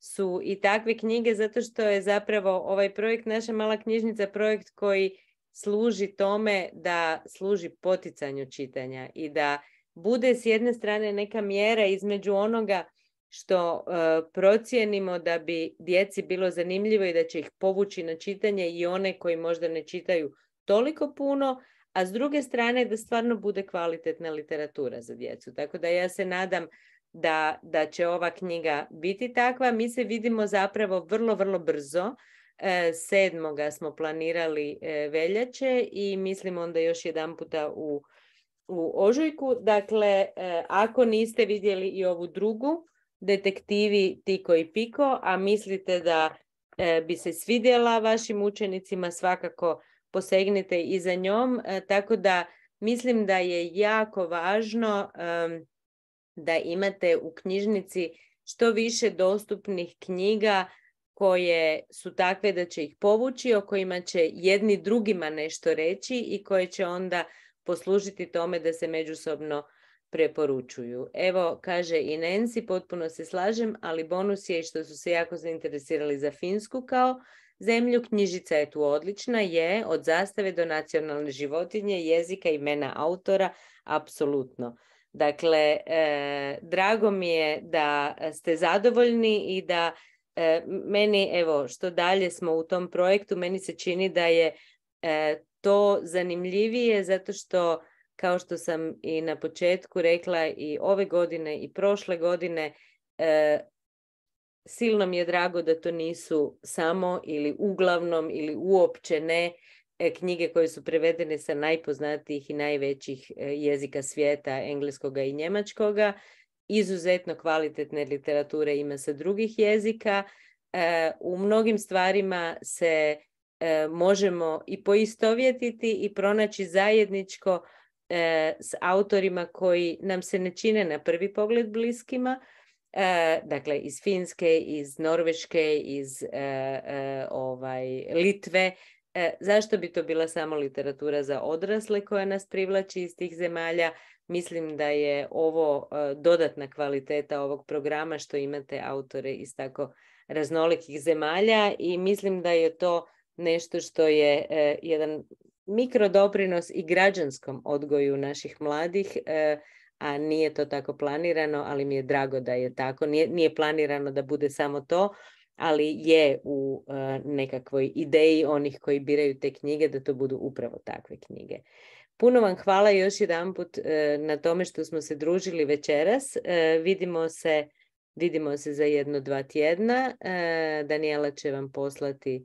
su i takve knjige, zato što je zapravo ovaj projekt Naša mala knjižnica projekt koji služi tome da služi poticanju čitanja i da bude s jedne strane neka mjera između onoga što procijenimo da bi djeci bilo zanimljivo i da će ih povući na čitanje i one koji možda ne čitaju toliko puno, a s druge strane da stvarno bude kvalitetna literatura za djecu. Tako da ja se nadam da će ova knjiga biti takva. Mi se vidimo zapravo vrlo, vrlo brzo. 7. smo planirali veljače i mislim onda još jedan puta u ožujku. Dakle, ako niste vidjeli i ovu drugu, Detektivi Tiko i Piko, a mislite da bi se svidjela vašim učenicima, svakako posegnite i za njom. Tako da mislim da je jako važno da imate u knjižnici što više dostupnih knjiga koje su takve da će ih povući, o kojima će jedni drugima nešto reći i koje će onda poslužiti tome da se međusobno preporučuju. Evo, kaže i Nancy, potpuno se slažem, ali bonus je što su se jako zainteresirali za Finsku kao zemlju. Knjižica je tu odlična, je od zastave do nacionalne životinje, jezika, imena autora, apsolutno. Dakle, drago mi je da ste zadovoljni i da meni, evo, što dalje smo u tom projektu, meni se čini da je to zanimljivije zato što kao što sam i na početku rekla, i ove godine i prošle godine, silno mi je drago da to nisu samo ili uglavnom ili uopće ne knjige koje su prevedene sa najpoznatijih i najvećih jezika svijeta, engleskoga i njemačkoga. Izuzetno kvalitetne literature ima sa drugih jezika. U mnogim stvarima se možemo i poistovjetiti i pronaći zajedničko s autorima koji nam se ne čine na prvi pogled bliskima. Dakle, iz Finske, iz Norveške, iz Litve. Zašto bi to bila samo literatura za odrasle koja nas privlači iz tih zemalja? Mislim da je ovo dodatna kvaliteta ovog programa što imate autore iz tako raznolikih zemalja i mislim da je to nešto što je jedan mikrodoprinos i građanskom odgoju naših mladih, a nije to tako planirano, ali mi je drago da je tako. Nije planirano da bude samo to, ali je u nekakvoj ideji onih koji biraju te knjige da to budu upravo takve knjige. Puno vam hvala još jedanput na tome što smo se družili večeras. Vidimo se za 1-2 tjedna. Daniela će vam poslati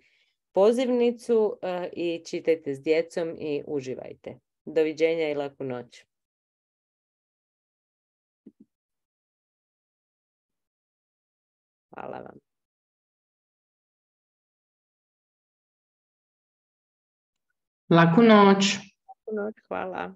pozivnicu i čitajte s djecom i uživajte. Doviđenja i laku noć. Hvala vam. Laku noć. Laku noć, hvala.